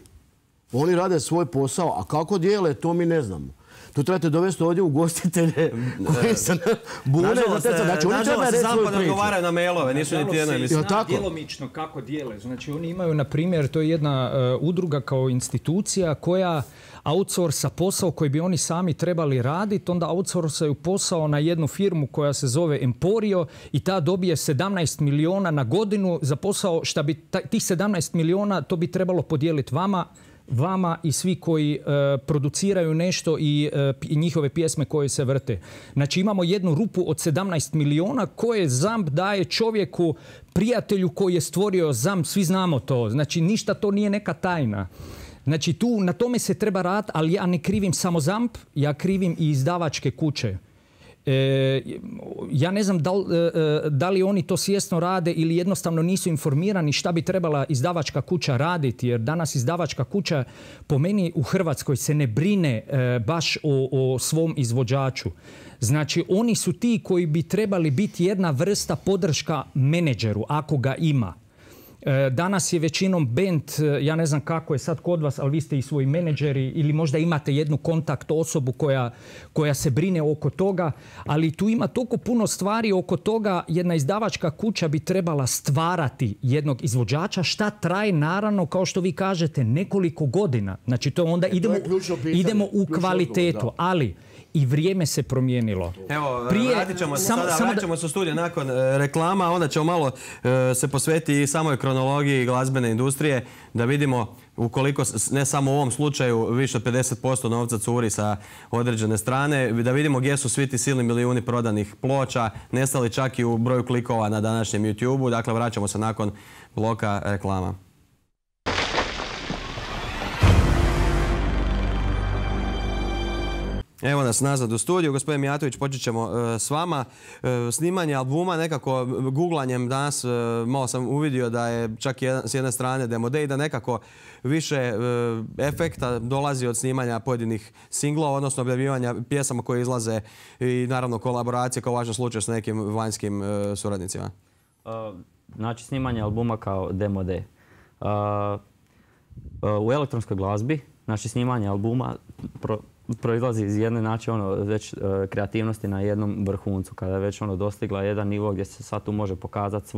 oni rade svoj posao, a kako dijele, to mi ne znamo. Tu trebate dovesti ovdje ugostitelje koji se bune za te. Znači, oni trebaju reći svoju priču. Odgovaraju na mailove, nisu niti jedno emisije. Djelomično kako dijele. Znači, oni imaju, na primjer, to je jedna udruga kao institucija koja outsourca posao koji bi oni sami trebali raditi, onda outsourcaju posao na jednu firmu koja se zove Emporio i ta dobije 17 miliona na godinu za posao, šta bi tih 17 miliona to bi trebalo podijeliti vama i svi koji produciraju nešto i njihove pjesme koje se vrte. Znači imamo jednu rupu od 17 miliona koje ZAMP daje čovjeku, prijatelju koji je stvorio ZAMP, svi znamo to. Znači ništa to nije neka tajna. Znači tu na tome se treba raditi, ali ja ne krivim samo ZAMP, ja krivim i izdavačke kuće. Ja ne znam da li oni to svjesno rade ili jednostavno nisu informirani šta bi trebala izdavačka kuća raditi, jer danas izdavačka kuća po meni u Hrvatskoj se ne brine baš o svom izvođaču. Znači oni su ti koji bi trebali biti jedna vrsta podrška menadžeru ako ga ima. Danas je većinom bend, ja ne znam kako je sad kod vas, ali vi ste i svoji menadžeri ili možda imate jednu kontakt osobu koja se brine oko toga, ali tu ima toliko puno stvari oko toga. Jedna izdavačka kuća bi trebala stvarati jednog izvođača, šta traje naravno, kao što vi kažete, nekoliko godina. Znači to onda idemo u kvalitetu, ali i vrijeme se promijenilo. Evo, vraćamo se u studiju nakon reklama, onda ćemo malo se posvetiti i samoj kronologiji glazbene industrije, da vidimo ukoliko, ne samo u ovom slučaju, više od 50% novca curi sa određene strane, da vidimo gdje su svi ti silni milijuni prodanih ploča, nestali čak i u broju klikova na današnjem YouTube-u. Dakle, vraćamo se nakon bloka reklama. Evo nas nazad u studiju. Gospodin Mijatović, počet ćemo s vama. Snimanje albuma, nekako googlanjem danas malo sam uvidio da je čak s jedne strane demo day, da nekako više efekta dolazi od snimanja pojedinih singlova, odnosno objavljivanja pjesama koje izlaze i naravno kolaboracije kao važan slučaj s nekim vanjskim suradnicima. Znači snimanje albuma kao demo day. U elektronskoj glazbi, znači snimanje albuma proizlazi iz jedne već kreativnosti na jednom vrhuncu, kada je već dostigla jedan nivo gdje se sad tu može pokazati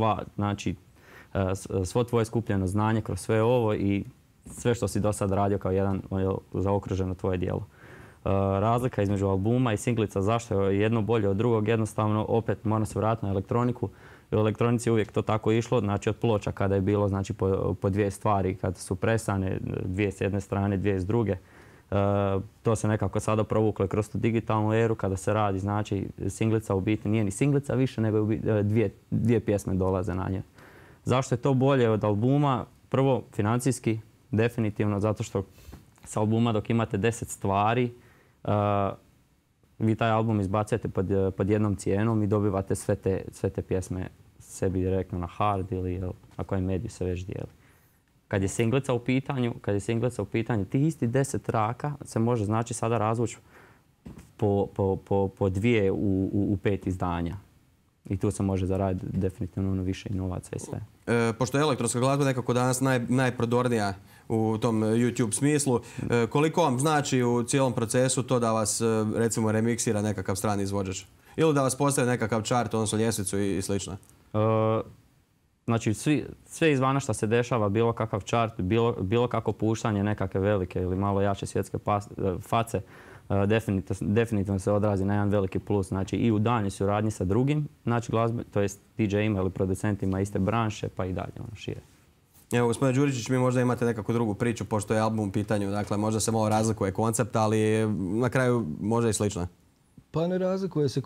svo tvoje skupljeno znanje kroz sve ovo i sve što si do sad radio kao jedan zaokruženo tvoje djelo. Razlika između albuma i singlica, zašto je jedno bolje od drugog, jednostavno opet mora se vratiti na elektroniku. U elektronici je uvijek to tako išlo, znači od ploča kada je bilo znači, po dvije stvari, kada su presane, dvije s jedne strane, dvije s druge. To se nekako sada provuklo kroz tu digitalnu eru kada se radi, znači singlica u biti nije ni singlica više, nego dvije pjesme dolaze na nje. Zašto je to bolje od albuma? Prvo, financijski, definitivno, zato što s albuma dok imate 10 stvari, vi taj album izbacujete pod jednom cijenom i dobivate sve te pjesme sebi direktno na hard ili na kojem mediju se već dijeli. Kad je singlica u pitanju, tih isti 10 traka se može znači sada razvući po dvije u 5 izdanja. I tu se može zaraditi definitivno više i novaca i sve. Pošto je elektronska glazba nekako danas najprodornija u tom YouTube smislu, koliko vam znači u cijelom procesu to da vas recimo remiksira nekakav strani izvođač? Ili da vas postavi nekakav chart, odnosno ljestvicu i slično? Znači, sve izvana što se dešava, bilo kakav chart, bilo kako puštanje nekakve velike ili malo jače svjetske face, definitivno se odrazi na jedan veliki plus. Znači, i u daljnjoj suradnji sa drugim, znači glazbe, to jest DJ-ima ili producentima iste branše, pa i dalje šire. Evo, gospodine Đuričić, mi možda imate nekakvu drugu priču, pošto je album u pitanju. Dakle, možda se malo razlikuje koncept, ali na kraju možda i slično. Pa ne razlikuje se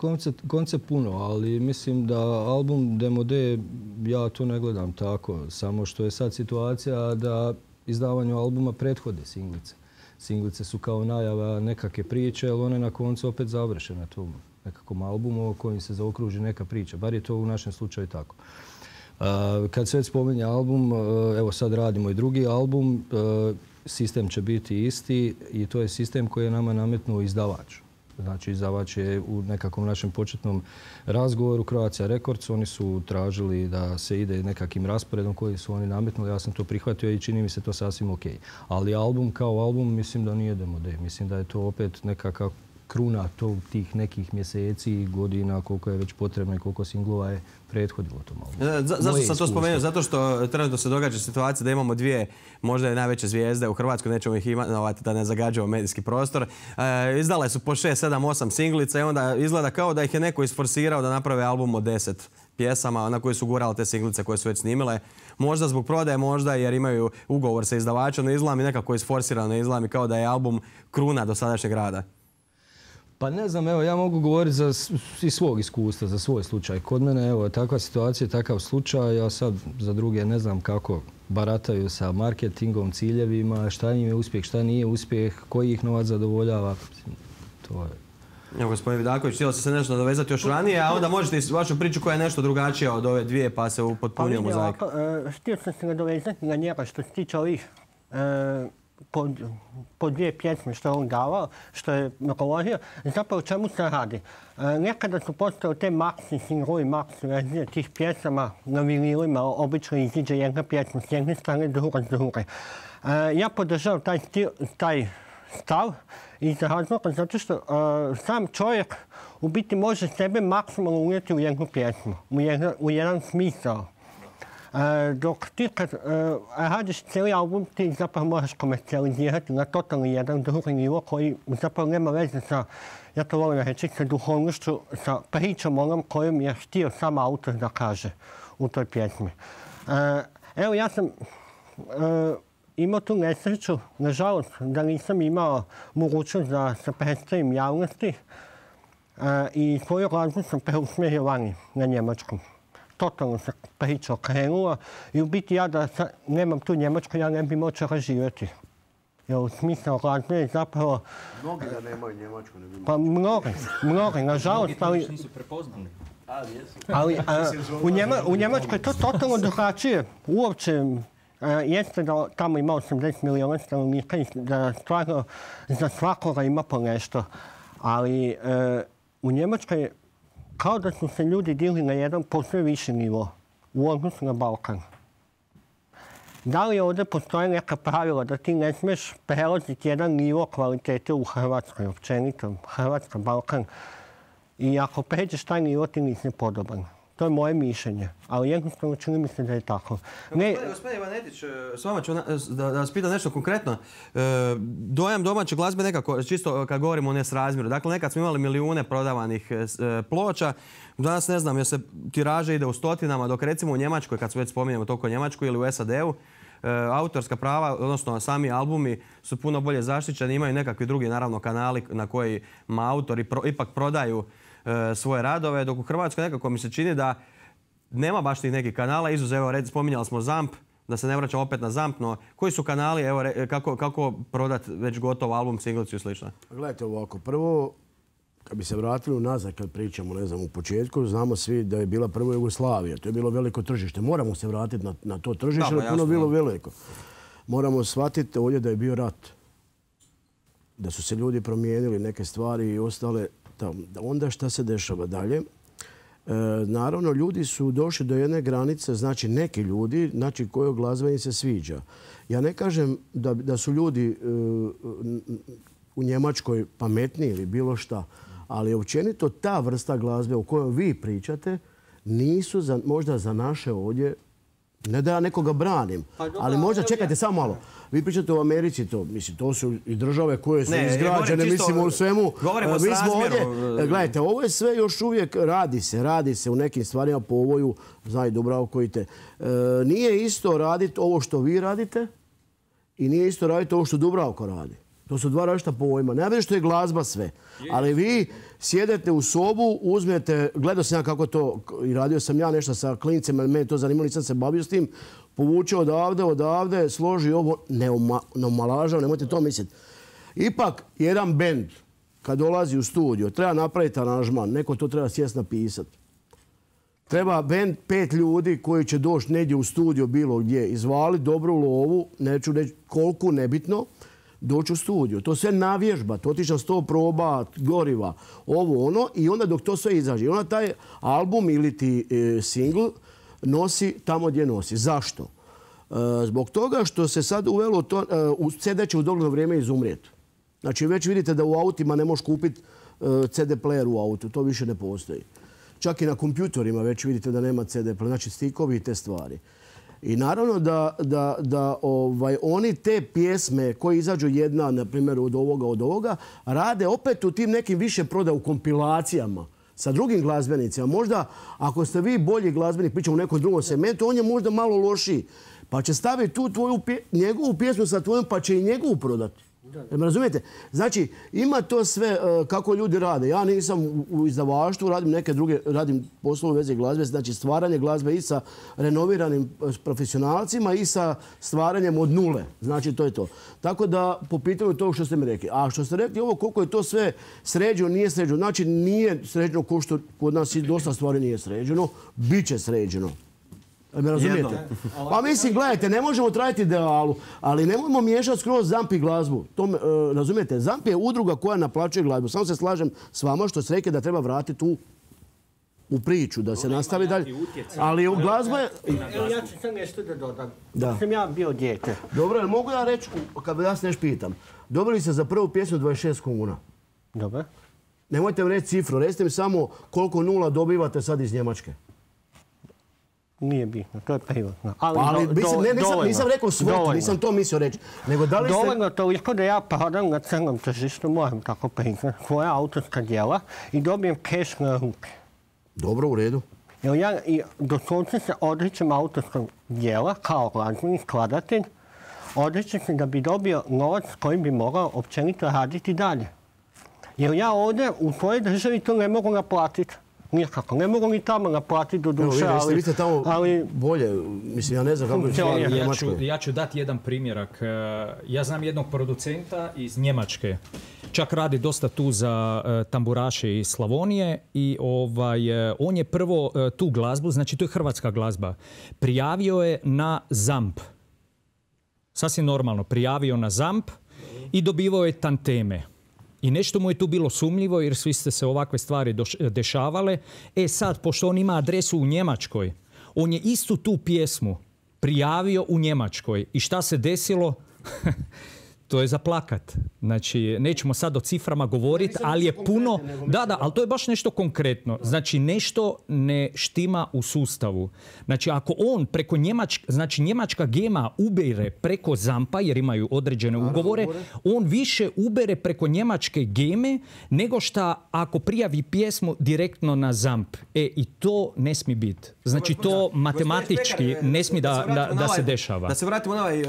koncept puno, ali mislim da album Demo D, ja to ne gledam tako. Samo što je sad situacija da izdavanju albuma prethode singlice. Singlice su kao najava nekakve priče, ali one na koncu opet završe na tom nekakvom albumu o kojim se zaokruži neka priča. Bar je to u našem slučaju tako. Kad se već spominje album, evo sad radimo i drugi album, sistem će biti isti i to je sistem koji je nama nametnuo izdavač. Znači, izdavač je u nekakvom našem početnom razgovoru Croatia Records. Oni su tražili da se ide nekakvim rasporedom koji su oni nametnuli. Ja sam to prihvatio i čini mi se to sasvim ok. Ali album kao album mislim da nije demo day. Mislim da je to opet nekakav kruna tih nekih mjeseci i godina koliko je već potrebno i koliko singlova je prethodilo tom albumu. Zašto sam to spomenuo? Zato što trenutno se događa situacija da imamo dvije možda najveće zvijezde u Hrvatskoj, nećemo ih imenovati da ne zagađujemo medijski prostor. Izdale su po 6, 7, 8 singlica i onda izgleda kao da ih je neko isforsirao da naprave album od 10 pjesama na koje su gurale te singlice koje su već snimile. Možda zbog prodaje, možda jer imaju ugovor sa izdavačom, no izgleda mi nekako isforsirano, izgleda mi kao da je album kruna dosadašnjeg rada. Pa ne znam, evo ja mogu govoriti iz svog iskustva, za svoj slučaj. Kod mene, evo, takva situacija, takav slučaj, ja sad za druge ne znam kako barataju sa marketingom, ciljevima, šta im je uspjeh, šta nije uspjeh, koji ih novac zadovoljava. To je... Evo, gospodin Vidaković, htjelo se nešto nadovezati još ranije, a onda možete i vašu priču koja je nešto drugačija od ove dvije, pa se upotpunio mozaik. Htio sam se nadovezati na njega što se tiče ovih po 2 pjesme što je on davao, što je govorio. Zapravo o čemu se radi? Nekada su postale te maxi single i maxi verzije tih pjesama na vinilima. Obično iziđe jedna pjesma s jedne strane, druga s druge. Ja podržavam taj stav iz razloga zato što sam čovjek u biti može sebe maksimalno unijeti u jednu pjesmu, u jedan smisao. Dok ti kad radiš cijeli album, ti zapravo moraš komercijalizirati na totalno jedan drugi nivo koji zapravo nema veze sa, ja to volim reći, sa duhovnošću, sa pričom onom kojom je htio sam autor da kaže u toj pjesmi. Evo, ja sam imao tu nesreću, nažalost, da nisam imao mogućnost da se predstavim javnosti i svoju glazbu sam preusmjerio vani na njemačkom. Totalno se priča okrenula i u biti ja da nemam tu Njemačku, ja ne bi moćala živjeti. Jer smisao glazbe je zapravo... Mnogi da nemaju Njemačku ne bi Pa mnogi, nažalost, ali... Mnogi to nisu prepoznali. Ali u Njemačkoj je to totalno drugačije. Uopće jeste da tamo ima 80 milijuna stanovnika i da stvarno za svakoga ima po nešto. Ali u Njemačkoj kao da su se ljudi digli na jedan posve viši nivo u odnosu na Balkan. Da li ovdje postoje neka pravila da ti ne smiješ prelaziti jedan nivo kvalitete u Hrvatskoj, općenito, Hrvatska, Balkan, i ako pređeš taj nivo ti nisi podoban. To je moje mišljenje, ali jednostavno čini mi se da je tako. Gospodin Ivanetić, s vama ću da vas pitam nešto konkretno. Dojam domaće glazbe nekako, čisto kad govorimo o nesrazmjeru. Dakle, nekad smo imali milijune prodavanih ploča. Danas ne znam, jer se tiraža ide u stotinama, dok recimo u Njemačkoj, kad se već spominjemo toliko Njemačku ili u SAD-u, autorska prava, odnosno sami albumi su puno bolje zaštićeni. Imaju nekakvi drugi, naravno, kanali na kojima autori ipak prodaju svoje radove, dok u Hrvatskoj nekako mi se čini da nema baš tih nekih kanala, izuzev, spominjali smo ZAMP, da se ne vraćam opet na ZAMP, no koji su kanali, evo, kako prodati već gotov album, singlicu i slično? Gledajte ovako, prvo, kad bi se vratili unazad, kad pričamo, ne znam, u početku, znamo svi da je bila prvo Jugoslavija, to je bilo veliko tržište. Moramo se vratiti na to tržište, jer je puno bilo veliko. Moramo shvatiti ovdje da je bio rat, da su se ljudi promijenili neke stvari i ostale. Onda šta se dešava dalje? Naravno, ljudi su došli do jedne granice, znači neki ljudi, znači kojoj glazba im se sviđa. Ja ne kažem da su ljudi u Njemačkoj pametniji ili bilo šta, ali općenito ta vrsta glazbe o kojoj vi pričate nisu možda za naše ovdje, ne da ja nekoga branim, ali možda, čekajte samo malo, vi pričate o Americi, to su i države koje su izgrađene, mislimo u svemu. Govorimo o srazmjeru. Gledajte, ovo je sve još uvijek, radi se u nekim stvarima po ovoju, znaju Dubravko i te. Nije isto raditi ovo što vi radite i nije isto raditi ovo što Dubravko radi. To su dva različita pojma. Ne već što je glazba sve. Ali vi sjedete u sobu, uzmete, gledao sam ja kako to, i radio sam ja nešto sa klincima, mene to zanimalo, nisam se bavio s tim, povuče odavde, složi ovo, ne omalažavam, nemojte to misliti. Ipak, jedan bend, kad dolazi u studio, treba napraviti aranžman, neko to treba sjest napisati. Treba bend 5 ljudi koji će doći negdje u studio bilo gdje, izvali dobru lovu, neću reći koliko, nebitno, doći u studiju. To sve navježbati, otići na 100 proba, goriva, ovo ono, i onda dok to sve izađe. I onda taj album ili ti single nosi tamo gdje nosi. Zašto? Zbog toga što se sad uvelo to, CD će u dogledno vrijeme izumrijeti. Znači već vidite da u autima ne možeš kupiti CD player u autu, to više ne postoji. Čak i na kompjutorima već vidite da nema CD player, znači stikovi i te stvari. I naravno da oni te pjesme koje izađu jedna, na primjer, od ovoga, rade opet u tim nekim više proda u kompilacijama sa drugim glazbenicima. Možda ako ste vi bolji glazbenik, pričamo u nekom drugom segmentu, on je možda malo lošiji. Pa će staviti tu njegovu pjesmu sa tvojom, pa će i njegovu prodati. Razumijete? Znači, ima to sve kako ljudi rade. Ja nisam u izdavaštvu, radim poslove u vezi glazbe, znači stvaranje glazbe i sa renoviranim profesionalcima i sa stvaranjem od nule. Znači, to je to. Tako da, po pitanju toga što ste mi rekli. A što ste rekli ovo, koliko je to sve sređeno, nije sređeno. Znači, nije sređeno ko što kod nas i dosta stvari nije sređeno. Biće sređeno. Me razumijete? Pa mislim, gledajte, ne možemo trajati idealu, ali nemojmo miješati skroz ZAMP i glazbu. Razumijete? ZAMP je udruga koja naplaćuje glazbu. Samo se slažem s vama što ste rekli da treba vratiti u priču, da se nastavi dalje. Ali u glazba je... Ja ću sam nešto da dodam. Da sam ja bio dijete. Dobro, ali mogu ja reći, kad vas nešto pitam, dobili ste za prvu pjesmu 26 kuna. Dobro. Nemojte mi reći cifru, recite mi samo koliko nula dobivate sad iz Njemačke. Nije bitno, to je privatno. Nisam rekao svotu, nisam to mislio reći. Dovoljno toliko da ja prodam na crnom tržištu, moram tako priznati, svoja autorska djela i dobijem keš na ruke. Dobro, u redu. Jer ja doslovce se odričem autorskog djela kao glazbeni skladatelj, odričem se da bi dobio novac koji bi mogao općenito raditi dalje. Jer ja ovdje u svojoj državi to ne mogu naplatiti. Nikako. Ne mogu ni tamo naplatiti do duše, ali... Vi ste tamo bolje. Mislim, ja ne znam kako je stvar u Njemačkoj. Ja ću dati jedan primjerak. Ja znam jednog producenta iz Njemačke. Čak radi dosta tu za tamburaše iz Slavonije i on je prvo tu glazbu, znači to je hrvatska glazba, prijavio je na ZAMP. Sasvim normalno. Prijavio na ZAMP i dobivao je tanteme. I nešto mu je tu bilo sumnjivo jer svi ste se ovakve stvari dešavale. Sad, pošto on ima adresu u Njemačkoj, on je istu tu pjesmu prijavio u Njemačkoj. I šta se desilo? To je za plakat. Znači, nećemo sad o ciframa govoriti, ali je puno... Da, ali to je baš nešto konkretno. Znači, nešto ne štima u sustavu. Znači, ako on preko njemačka gema ubere preko ZAMP-a, jer imaju određene ugovore, on više ubere preko njemačke geme nego šta ako prijavi pjesmu direktno na ZAMP. I to ne smije biti. Znači, to matematički ne smije da se dešava. Da se vratimo na ovaj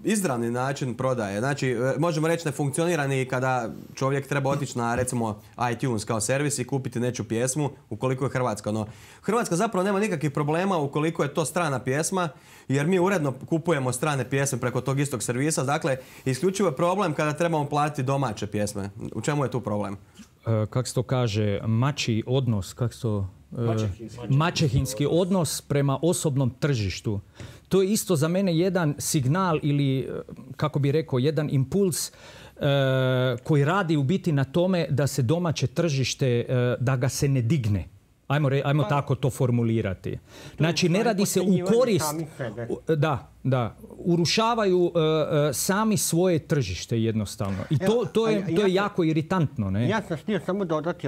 izravni način prodaje. Znači, možemo reći ne funkcionira ni kada čovjek treba otići na, recimo, iTunes kao servis i kupiti nečiju pjesmu ukoliko je hrvatska. No, Hrvatska zapravo nema nikakvih problema ukoliko je to strana pjesma, jer mi uredno kupujemo strane pjesme preko tog istog servisa. Dakle, isključivo je problem kada trebamo platiti domaće pjesme. U čemu je tu problem? Kako se to kaže, mačji odnos, maćehinski odnos prema osobnom tržištu. To je isto za mene jedan signal ili, kako bi rekao, jedan impuls koji radi u biti na tome da se domaće tržište, da ga se ne digne. Ajmo tako to formulirati. Znači, ne radi se u korist... Da. Urušavaju sami svoje tržište jednostavno. I to je jako iritantno, ne? Ja sam htio samo dodati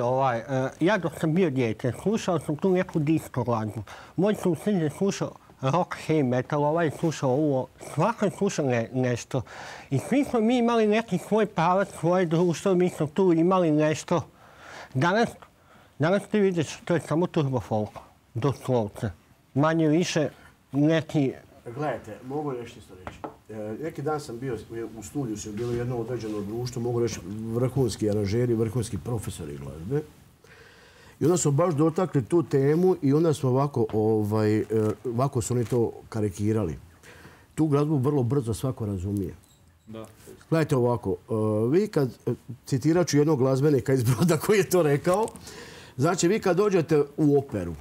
ja dok sam bio dijete, slušao sam tu neku disco glazbu. Moj susjed je slušao rock, heavy metal, je slušao ovo. Svako je slušao nešto. I svi smo mi imali neki svoj pravac, svoje društvo, mi smo tu imali nešto. Danas ti vidiš, to je samo turbo folk, doslovce. Manje više neki... Gledajte, mogu nešto isto reći. Neki dan sam bio u studiju, sam bilo jedno određeno društvo, mogu reći vrhunski aranžeri, vrhunski profesori glazbe. I onda smo baš dotakli tu temu i onda smo ovako su oni to karikirali. Tu glazbu vrlo brzo svako razumije. Gledajte ovako, vi kad, citirat ću jednog glazbenika iz Broda koji je to rekao, znači vi kad dođete u operu,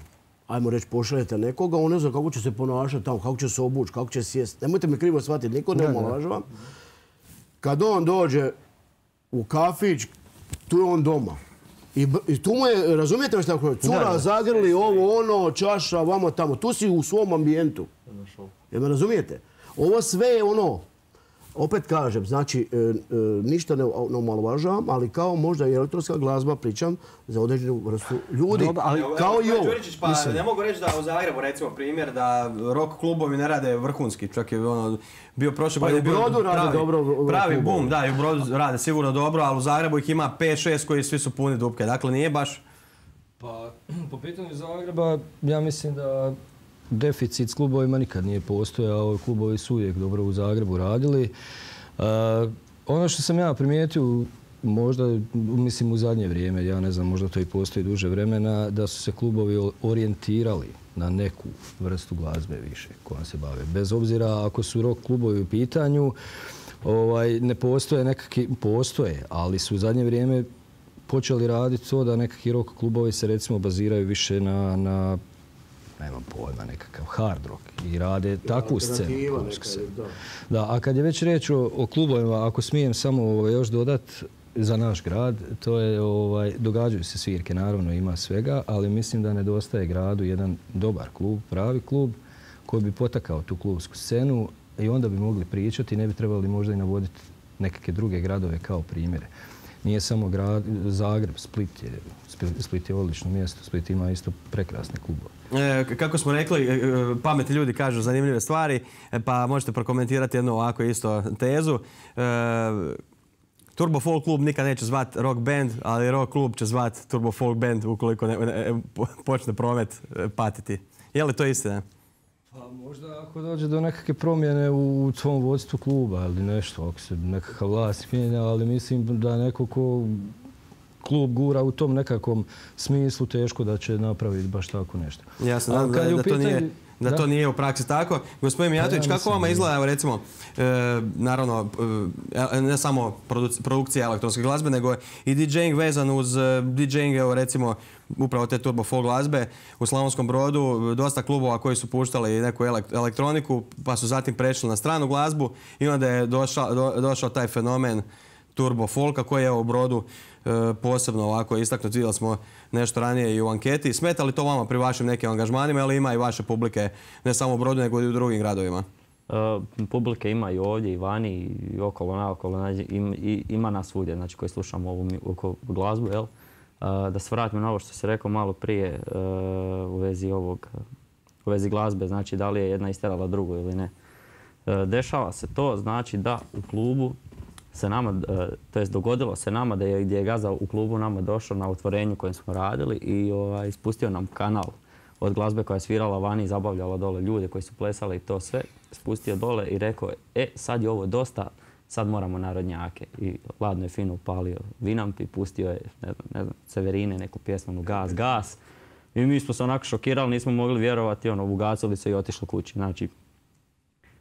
ajmo reći, pošaljete nekoga, on ne zna kako će se ponašati tamo, kako će se obući, kako će sjesti. Nemojte me krivo shvatiti, niko ne omalovažava. Kad on dođe u kafić, tu je on doma. I tu mu je, razumijete što tako je, cura, zagrli, ovo, ono, čaša, vamo tamo. Tu si u svom ambijentu. Jer me razumijete? Ovo sve je ono, opet kažem, znači, ništa ne omalovažavam, ali kao možda i elektronska glazba, pričam za određenu vrstu ljudi. Kao i ovo. Ne mogu reći da u Zagrebu, recimo primjer, da rock klubovi ne rade vrhunski. Čak je bio prošle godine u Brodu rade dobro. Pravi boom, da, i u Brodu rade sigurno dobro, ali u Zagrebu ih ima 5-6 koji svi su puni dupke. Dakle, nije baš... Pa, po pitanju Zagreba, ja mislim da deficit s klubovima nikad nije postojao. Klubovi su uvijek dobro u Zagrebu radili. Ono što sam ja primijetio, možda, mislim u zadnje vrijeme, ja ne znam, možda to i postoji duže vremena, da su se klubovi orijentirali na neku vrstu glazbe više kojom se bave. Bez obzira ako su rock klubovi u pitanju, ne postoje nekakvi, postoje, ali su u zadnje vrijeme počeli raditi to da nekakvi rock klubovi se recimo baziraju više na nemam pojma, nekakav hard rock i rade takvu scenu. Da, a kad je već riječ o klubovima, ako smijem samo još dodat za naš grad, to je, događaju se svirke, naravno ima svega, ali mislim da nedostaje gradu jedan dobar klub, pravi klub, koji bi potakao tu klubsku scenu i onda bi mogli pričati, ne bi trebali možda i navoditi nekakve druge gradove kao primjere. Nije samo Zagreb, Split je odlično mjesto, Split ima isto prekrasne klubove. Kako smo rekli, pametni ljudi kažu zanimljive stvari, pa možete prokomentirati jednu ovako isto tezu. Turbo Folk klub nikad neće zvat rock band, ali rock klub će zvat Turbo Folk band ukoliko počne promet patiti. Je li to istina? Pa možda ako dođe do nekakve promjene u svom vodstvu kluba ili nešto, ako se nekakav vlast mijenja, ali mislim da neko ko klub gura u tom nekakvom smislu teško da će napraviti baš tako nešto. Jasno, da to nije u praksi tako. Gospodin Mijatović, kako vama izgleda, recimo, naravno, ne samo produkcija elektronske glazbe, nego i DJing vezan uz DJing, evo recimo, upravo te Turbo Folk glazbe u Slavonskom Brodu, dosta klubova koji su puštali neku elektroniku, pa su zatim prešli na stranu glazbu i onda je došao taj fenomen Turbo Folka koji je u Brodu posebno ovako istaknut. Vidjeli smo nešto ranije i u anketi. Smeta li to vama pri vašim nekim angažmanima ili ima i vaše publike ne samo u Brodu nego i u drugim gradovima? Publike ima i ovdje i vani i okolo naokolo. Ima nas svugdje znači, koji slušamo ovu glazbu. Jel? Da se vratim na ovo što se rekao malo prije u vezi glazbe, znači da li je jedna isterala drugu ili ne. Dešava se to, znači da u klubu se nama, to jest dogodilo se nama da je gdje je gazda u klubu nama došao na otvorenju kojem smo radili i spustio nam kanal od glazbe koja je svirala vani i zabavljala dole ljude koji su plesali i to sve. Spustio dole i rekao sad je ovo dosta, sad moramo narodnjake. I ladno je fino upalio Vinamp i pustio je, ne znam, Severine, neku pjesmu, Gas. I mi smo se onako šokirali, nismo mogli vjerovati, ugasili se i otišli kući. Znači,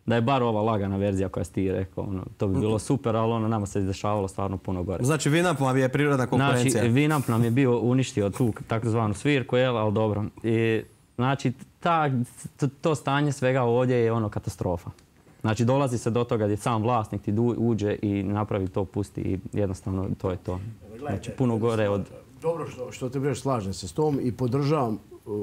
da je bar ova lagana verzija koja si ti rekao, to bi bilo super, ali nama se izdešavalo stvarno puno gore. Znači Vinamp vam je prirodna konkurencija? Znači Vinamp nam je bio uništio tu takozvanu svirku, ali dobro. I, znači to stanje svega ovdje je katastrofa. Znači dolazi se do toga gdje sam vlasnik ti uđe i napravi to, pusti i jednostavno to je to. Znači puno gore od... Dobro što te budeš, slažem se s tom i podržavam,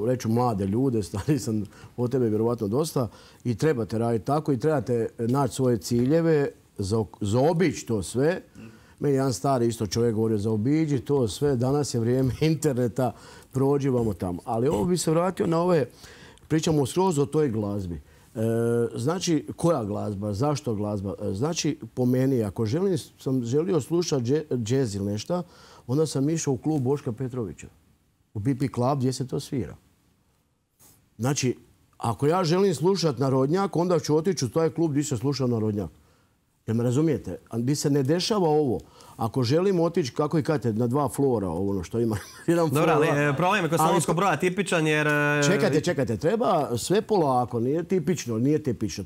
reću, mlade ljude, stari sam od tebe vjerovatno dosta i trebate raditi tako i trebate naći svoje ciljeve, zaobići to sve. Meni jedan stari isto čovjek govorio, zaobiđi to sve, danas je vrijeme interneta, prođi vamo tamo. Ali ovo bi se vratio na ove, pričamo skroz o toj glazbi. Znači, koja glazba, zašto glazba? Znači, po meni, ako sam želio slušati džez ili nešto, onda sam išao u klub Boška Petrovića, u BP Club gdje se to svira. Znači, ako ja želim slušati narodnjak, onda ću otići u taj klub gdje se sluša narodnjak. Jel me razumijete? Gdje se ne dešava ovo. Ako želimo otići, kako i kažete, na dva flora, ono što ima jedan flora... Dobro, ali problem je kod Slavonskog Broda tipičan jer... Čekajte, treba sve polako, nije tipično.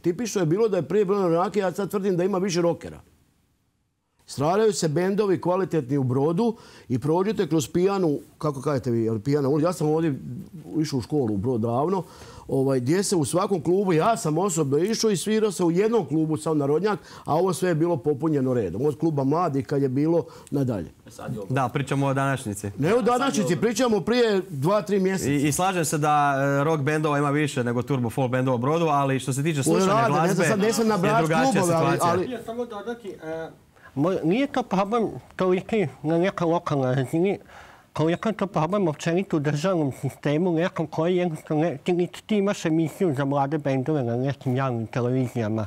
Tipično je bilo da je prije bilo narodnjake, ja sad tvrdim da ima više rockera. Stvaraju se bendovi kvalitetni u Brodu i prođete kroz pijanu, kako kažete vi, pijana ulica. Ja sam ovdje išao u školu u Brod davno, gdje se u svakom klubu, ja sam osobno išao i svirao se u jednom klubu sam narodnjak, a ovo sve je bilo popunjeno redom. Od kluba mladih kad je bilo nadalje. Da, pričamo o današnjici. Ne o današnjici, pričamo prije 2-3 mjeseca. I slažem se da rock bendova ima više nego turbo folk bendova u Brodu, ali što se tiče slušanja glazbe je drugačija situacija. Samo dodati, nije to problem toliki na nekoj lokalnoj razini, koliko je to problem općenito u državnom sistemu, nekom koji jednostavno, ti imaš emisiju za mlade bendove na nekim javnim televizijama,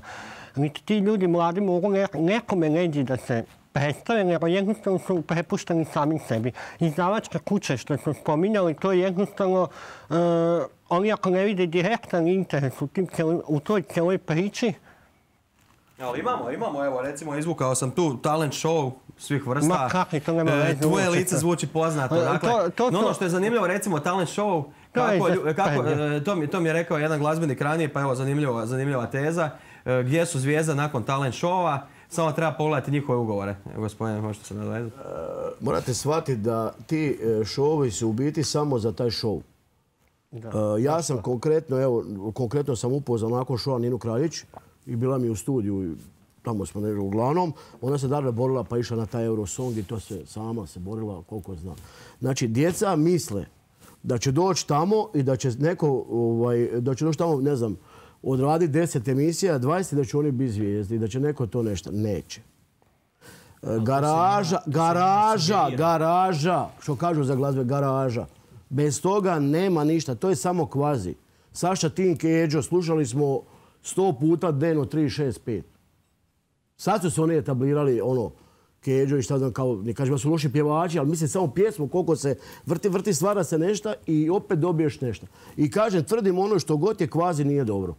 niti ti ljudi mladi mogu nekome neđi da se predstave, nego jednostavno su prepušteni sami sebi. Izdavačke kuće što su spominjali, to je jednostavno, oni ako ne vide direktan interes u toj cijeloj priči. Ali imamo, evo recimo izvukao sam tu talent show svih vrsta. Ma kakvi, to nema veze. Tvoje lice zvuči poznato. Dakle, ono što je zanimljivo, recimo talent show, to mi je rekao jedan glazbenik ranije, pa evo zanimljiva teza, gdje su zvijezde nakon talent showa, samo treba pogledati njihove ugovore. Gospodine, možete se nadovezati? Morate shvatiti da ti šovovi su u biti samo za taj show. Ja sam konkretno sam upoznao nakon šova Ninu Kraljić i bila mi u studiju, tamo smo nešto uglavnom. Ona se dalje borila pa išla na taj Eurosong i to se sama se borila koliko zna. Znači, djeca misle da će doći tamo i da će neko, da će doći tamo, ne znam, odraditi 10 emisija, 20 da će oni biti zvijezdi i da će neko to nešto. Neće. Garaža, što kažu za glazbe, garaža. Bez toga nema ništa, to je samo kvazi. Saša Tink i Eđo, slušali smo 100 puta dnevno 365. Sad su se oni etablirali, Keđo i šta znam, kao, ne kažem da su loši pjevači, ali mislim samo pjesmu, koliko se vrti, stvara se nešto i opet dobiješ nešto. I kažem, tvrdim ono što god je kvazi nije dobro.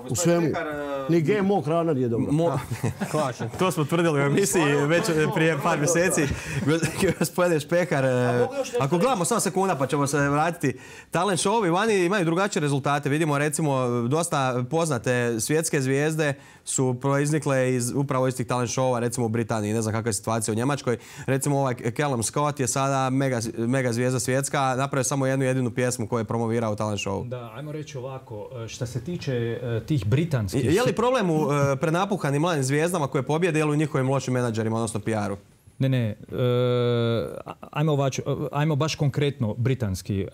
U svemu. Ni GMO hrana nije dobro. To smo tvrdili u emisiji već prije par mjeseci. Gospodine Špehar, ako gledamo samo sekunda pa ćemo se vratiti. Talent show-ovi vani imaju drugačije rezultate. Vidimo recimo dosta poznate svjetske zvijezde su proiznikle upravo iz tih talent show-ova, recimo u Britaniji. Ne znam kakva je situacija u Njemačkoj. Recimo ovaj Callum Scott je sada mega zvijezda svjetska. Napravio samo jednu jedinu pjesmu koju je promovirao u talent show. Da, ajmo reći ovako. Što se tiče tih britanskih... Je li problem u prenapuhanim mladim zvijezdama koje pobjede ili u njihovim lošim menadžerima, odnosno PR-u? Ne. Ajmo baš konkretno britanski.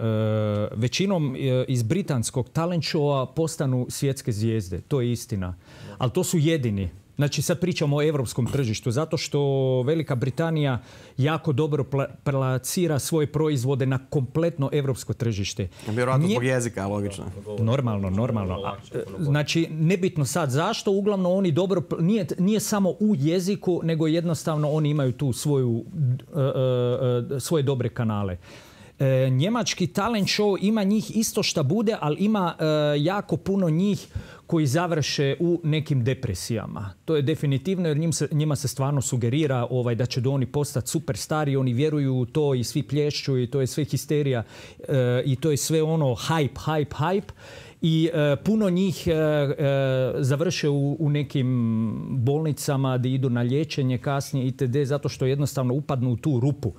Većinom iz britanskog talent showa postanu svjetske zvijezde. To je istina. Ali to su jedini. Znači sad pričamo o europskom tržištu, zato što Velika Britanija jako dobro plasira svoje proizvode na kompletno europsko tržište. Vjerojatno zbog jezika, logično. Normalno. Znači, nebitno sad zašto, uglavnom oni dobro, nije samo u jeziku, nego jednostavno oni imaju tu svoje dobre kanale. Njemački talent show ima njih isto šta bude, ali ima jako puno njih koji završe u nekim depresijama. To je definitivno jer njima se stvarno sugerira da će oni postati superstari, oni vjeruju u to i svi plješću i to je sve histerija i to je sve hype. I puno njih završe u nekim bolnicama gdje idu na liječenje kasnije itd. zato što jednostavno upadnu u tu rupu.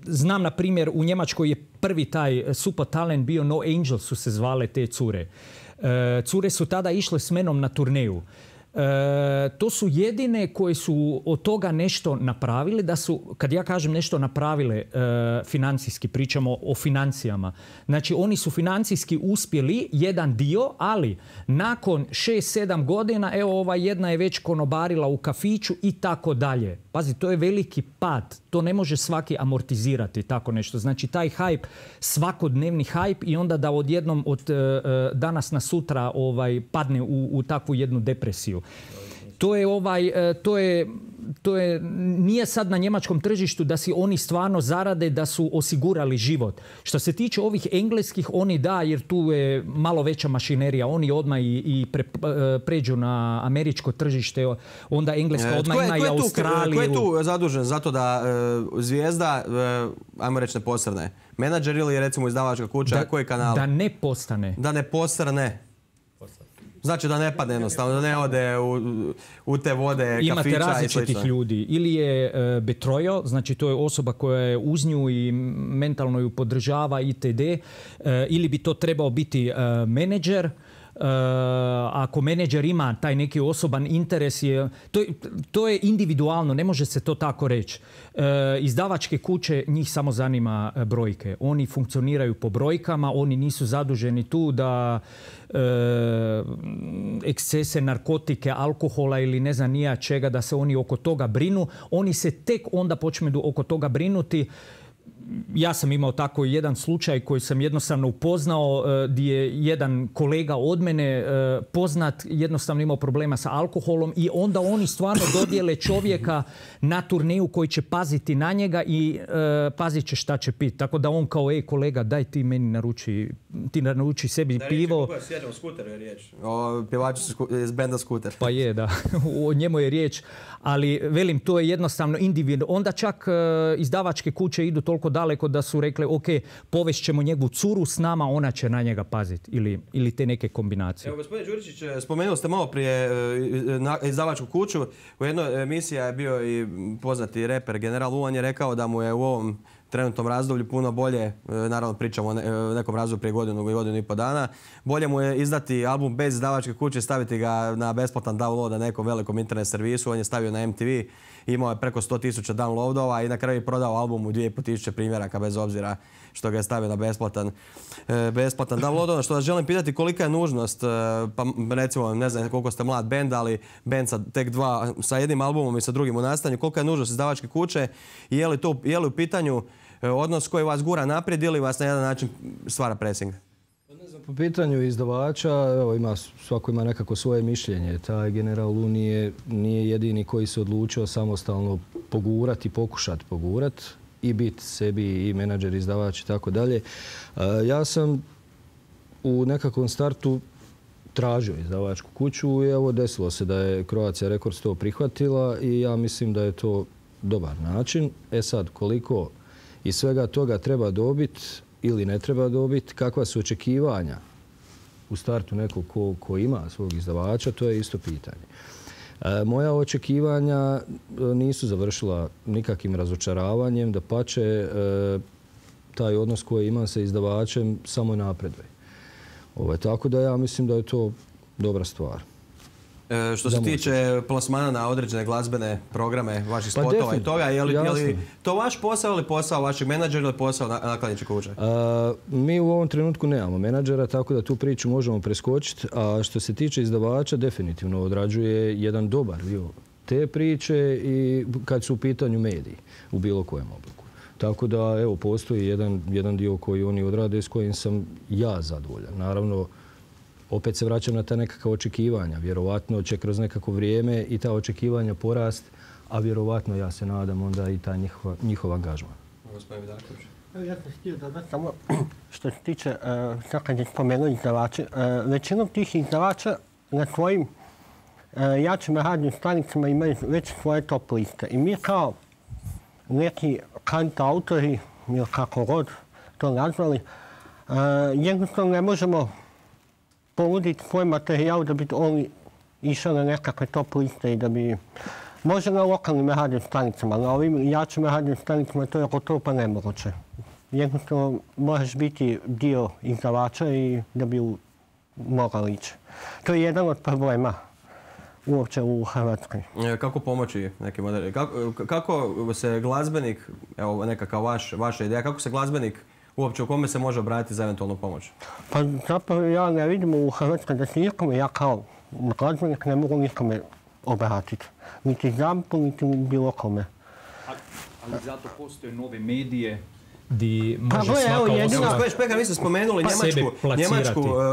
Znam, na primjer, u Njemačkoj je prvi taj super talent bio No Angels su se zvale te cure. Cure su tada išle s menom na turneju. To su jedine koje su od toga nešto napravili, da su, kad ja kažem nešto napravile financijski, pričamo o financijama. Znači oni su financijski uspjeli jedan dio, ali nakon 6-7 godina, evo ova jedna je već konobarila u kafiću i tako dalje. Pazi, to je veliki pad. To ne može svaki amortizirati tako nešto. Znači taj hype, svakodnevni hype i onda da odjednom od danas na sutra padne u takvu jednu depresiju. Nije sad na njemačkom tržištu da si oni stvarno zarade, da su osigurali život. Što se tiče ovih engleskih, oni da, jer tu je malo veća mašinerija. Oni odmah i pređu na američko tržište, onda engleska odmah ima i Australiju. Ko je tu zadužen za to da zvijezda, ajmo reći, ne posrne? Menadžer ili recimo izdavačka kuća? Koji kanal? Da ne postane. Da ne posrne. Znači da ne padne jednostavno, da ne ode u te vode kafića i slično. Imate različitih ljudi. Ili je betrojo, znači to je osoba koja je uz nju i mentalno ju podržava itd. Ili bi to trebao biti menadžer. Ako menadžer ima taj neki osoban interes, to je individualno, ne može se to tako reći. Izdavačke kuće, njih samo zanima brojke. Oni funkcioniraju po brojkama, oni nisu zaduženi tu da ekscese, narkotike, alkohola ili ne znam nija čega, da se oni oko toga brinu. Oni se tek onda počnu oko toga brinuti. Ja sam imao tako jedan slučaj koji sam jednostavno upoznao gdje je jedan kolega od mene poznat jednostavno imao problema sa alkoholom i onda oni stvarno dodijele čovjeka na turneju koji će paziti na njega i pazit će šta će piti. Tako da on kao, kolega, daj ti meni naruči sebi pivo. Da, riječ je o Skuteru je riječ. O pjevaču iz benda Skuter. Pa je, da. O njemu je riječ. Ali, velim, to je jednostavno individualno. Onda čak izdavačke kuće idu toliko daleko da su rekli, ok, povest ćemo njegovu curu s nama, ona će na njega paziti. Ili te neke kombinacije. Evo, gospodin Đuričić, spomenuli ste malo prije izdavačku kuću. U jednoj emisiji je bio i poznati reper General U. On je rekao da mu je u ovom trenutnom razdoblju puno bolje, naravno pričamo o nekom razdoblju prije godinu i pol dana, bolje mu je izdati album bez izdavačke kuće, staviti ga na besplatan download na nekom velikom internet servisu, on je stavio na MTV, imao je preko 100.000 downloadova i na kraju je prodao album u 2.500 primjeraka bez obzira što ga je stavio na besplatan download. Ono što vas želim pitati, kolika je nužnost, pa recimo ne znam koliko ste mlad bend, ali bend sa jednim albumom i sa drugim u nastanju, kolika je nužnost izdavačke kuće i je li u pitanju odnos koji vas gura naprijed ili vas na jedan način stvara pressing? Po pitanju izdavača, evo, svako ima nekako svoje mišljenje. Taj General Lu nije jedini koji se odlučio samostalno pogurati, pokušati pogurati i biti sebi i menadžer, izdavač i tako dalje. Ja sam u nekakvom startu tražio izdavačku kuću i evo desilo se da je Croatia Records to prihvatila i ja mislim da je to dobar način. Sad, koliko iz svega toga treba dobiti ili ne treba dobiti, kakva su očekivanja u startu nekog ko ima svog izdavača, to je isto pitanje. Moja očekivanja nisu završila nikakvim razočaravanjem, dapače, taj odnos koji imam sa izdavačem samo napreduje. Tako da ja mislim da je to dobra stvar. Što se tiče plasmana na određene glazbene programe, vaših spotova i toga, je li to vaš posao ili posao vašeg menadžera ili posao nakladničke kuće? Mi u ovom trenutku nemamo menadžera, tako da tu priču možemo preskočiti. A što se tiče izdavača, definitivno odrađuje jedan dobar dio te priče i kad su u pitanju mediji u bilo kojem obliku. Tako da, evo, postoji jedan dio koji oni odrade s kojim sam ja zadovoljan. Naravno, opet se vraćam na ta nekakva očekivanja. Vjerovatno će kroz nekako vrijeme i ta očekivanja porast, a vjerovatno, ja se nadam, onda i taj njihov angažman. Gospodin Vidaković. Ja sam htio dodati samo što se tiče, sad kad je spomenuo izdavače, većinom tih izdavača na svojim jačim radnim stanicama imaju već svoje top liste. I mi kao neki kantautori, ili kako god to nazvali, jednostavno ne možemo ponuditi svoj materijal da bi on išao na nekakve top liste i da bi... Može na lokalnim radnim stanicama, na ovim jačim radnim stanicama to je gotovo pa nemoguće. Jednostavno moraš biti dio izdavača i da bi mogao ići. To je jedan od problema uopće u Hrvatskoj. Kako pomoći nekim modernim? Kako se glazbenik, evo nekakav vaša ideja, kako se glazbenik uopće u kome se može obratiti za eventualnu pomoć? Pa zapravo ja ne vidim u Hrvatskoj da se nikome, ja kao glazbenik ne mogu nikome obratiti. Niti ZAMP-u, niti bilo kome. Ali zato postoje nove medije gdje može svaka osoba... Špekar, vi ste spomenuli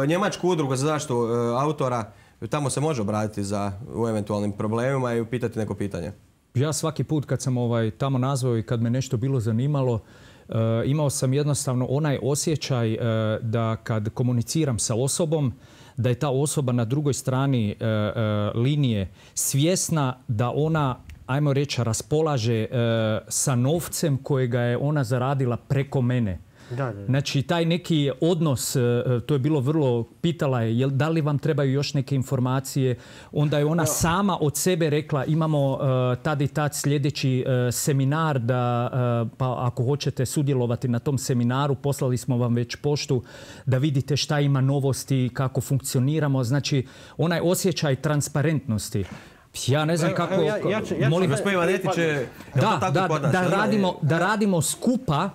Njemačku udrugu za zaštitu autora. Tamo se može obratiti u eventualnim problemima i pitati neko pitanje. Ja svaki put kad sam tamo nazvao i kad me nešto bilo zanimalo, imao sam jednostavno onaj osjećaj da kad komuniciram sa osobom, da je ta osoba na drugoj strani linije svjesna da ona, ajmo reći, raspolaže sa novcem kojega je ona zaradila preko mene. Znači, taj neki odnos, to je bilo vrlo, pitala je da li vam trebaju još neke informacije. Onda je ona sama od sebe rekla imamo tad i tad sljedeći seminar, pa ako hoćete sudjelovati na tom seminaru, poslali smo vam već poštu da vidite šta ima novosti, kako funkcioniramo. Znači, onaj osjećaj transparentnosti. Ja ne znam kako... Molim, gospodin Vanetić, da radimo skupa,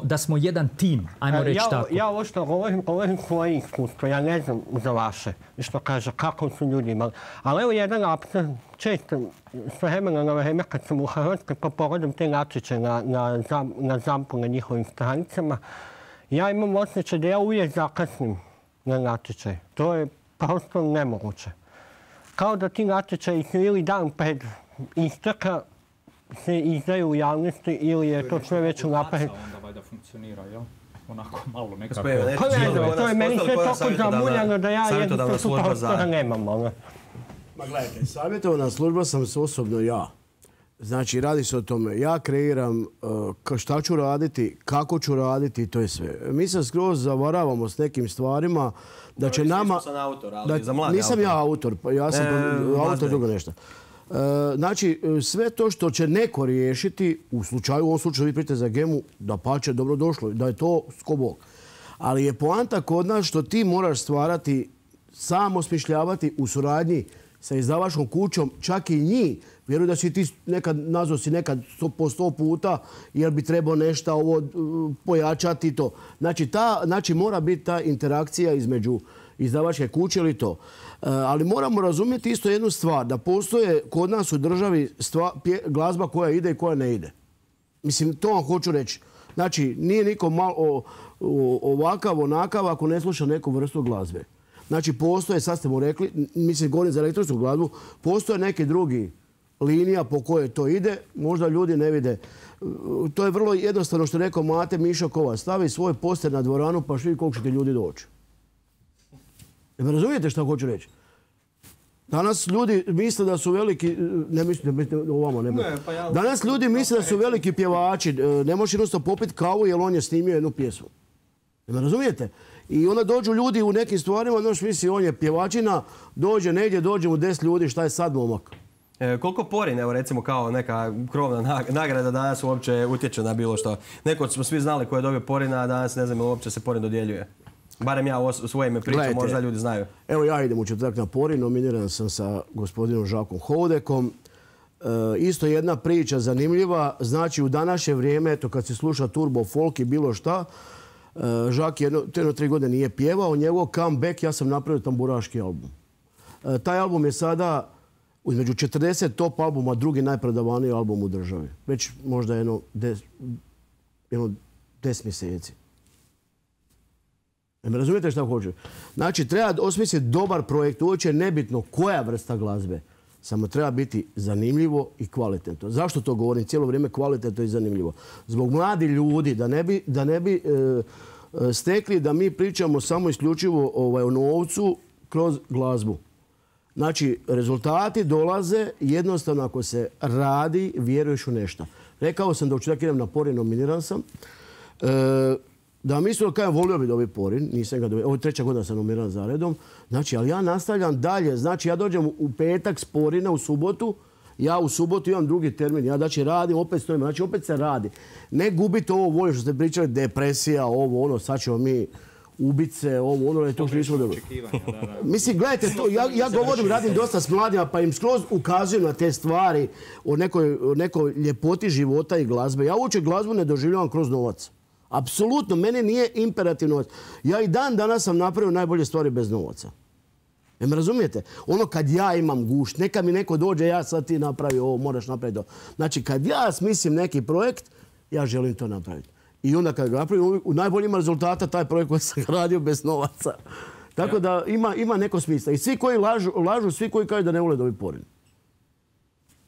da smo jedan tim, ajmo reći tako. Ja ovo što govorim svoje iskustvo, ja ne znam za vaše, što kaže, kako su ljudi imali. Ali evo jedan apsur, često s vremena na vreme kad sam u Hrvatskoj pa pogledam te natječaje na ZAMP-u, na njihovim stranicama, ja imam osjećaj da ja uvijek zakasnim na natječaj. To je prosto nemoguće. Kao da ti natječaji ili dan pred isteka se izdaju u javnosti ili je to sve već unaprijed. Onda valjda funkcionira, jel? Onako malo nekako... To je meni sve toliko zamuljano da ja jednostavno tu prostora nemam. Ma gledajte, savjetovana služba sam se osobno ja. Znači, radi se o tome. Ja kreiram šta ću raditi, kako ću raditi i to je sve. Mi se skroz zavaravamo s nekim stvarima da će nama... Nisam autor, ali za mladi Nisam ja autor, ja sam autor drugo nešto. Znači, sve to što će neko riješiti, u ovom slučaju vi pričate za Gemu, da pače dobro došlo, da je to skobok. Ali je poanta kod nas što ti moraš stvarati, sam osmišljavati u suradnji sa izdavačkom kućom, čak i njih. Vjerujem da si ti nazvao si nekad po 100 puta jer bi trebao nešto ovo pojačati i to. Znači, mora biti ta interakcija između izdavačke kuće ili to. Ali moramo razumjeti isto jednu stvar, da postoje kod nas u državi glazba koja ide i koja ne ide. Mislim, to vam hoću reći. Znači, nije niko malo ovakav, onakav ako ne sluša neku vrstu glazbe. Znači, postoje, sad ste mu rekli, mislim, govorim za elektronsku glazbu, postoje neke drugi linija po kojoj to ide, možda ljudi ne vide. To je vrlo jednostavno što je rekao Mate Mišo Kovač. Stavi svoj poster na dvoranu pa vidi koliko ćete ljudi doći. Ne razumijete što hoću reći? Danas ljudi misle da su veliki... Ne mislite ovamo, ne. Danas ljudi misle da su veliki pjevači. Ne možeš jednostavno popiti kavu jer on je snimio jednu pjesmu. Ne razumijete? I onda dođu ljudi u nekim stvarima, znaš, misli, on je pjevačina, dođe negdje, dođe mu 10 ljudi, šta je sad momak? Koliko Porin, evo recimo kao neka krovna nagrada danas uopće utječe na bilo što? Neko smo svi znali ko je dobio Porina, a danas ne znam ili uopće se Porin dodjeljuje. Barem ja u svoje ime pričam, možda ljudi znaju. Evo ja idem u četvrtak na Porin, nominiran sam sa gospodinom Žakom Houdekom. Isto jedna priča zanimljiva, znači u današnje vrijeme, eto kad se sluša turbo folk i bilo šta, Žak jedno 3 godine nije pjevao, njegov comeback, ja sam napravio tamburaški album. Taj album je sada između 40 top albuma, drugi najprodavaniji album u državi. Već možda jedno 10 mjeseci. Ne razumijete što hoću? Znači, treba osmisliti dobar projekt. Uopće je nebitno koja vrsta glazbe. Samo treba biti zanimljivo i kvalitetno. Zašto to govorim? Cijelo vrijeme kvalitetno i zanimljivo. Zbog mladi ljudi, da ne bi stekli da mi pričamo samo isključivo o novcu kroz glazbu. Znači, rezultati dolaze jednostavno ako se radi, vjeruješ u nešto. Rekao sam da u četvrtak idem na Porin, nominiran sam. Da mislim da volio bi dobiti Porin, nisam ga dobio, ovo je 3. godina sam nominiran za redom. Znači, ali ja nastavljam dalje. Znači, ja dođem u petak s Porina u subotu, ja u subotu imam drugi termin. Ja znači radim, opet stojim, znači opet se radi. Ne gubite ovo volje što ste pričali, depresija, ovo, ono, sad ćemo mi ubice, ovo, ono, to što nismo dobro. Mislim, gledajte, ja govorim, radim dosta s mladima, pa im skroz ukazujem na te stvari o nekoj ljepoti života i glazbe. Ja uopće glazbu ne doživljavam kroz novac. Apsolutno, mene nije imperativ novac. Ja i dan danas sam napravio najbolje stvari bez novaca. Ne me razumijete? Ono kad ja imam gušt, neka mi neko dođe, ja sad ti napravi ovo, moraš napraviti to. Znači, kad ja smislim neki projekt, ja želim to napraviti. I onda kad ga napravim, u najboljima rezultata taj projekt koji sam radio bez novaca. Tako da ima neko smisla. I svi koji lažu, svi koji kažu da ne vole dobiti Porin.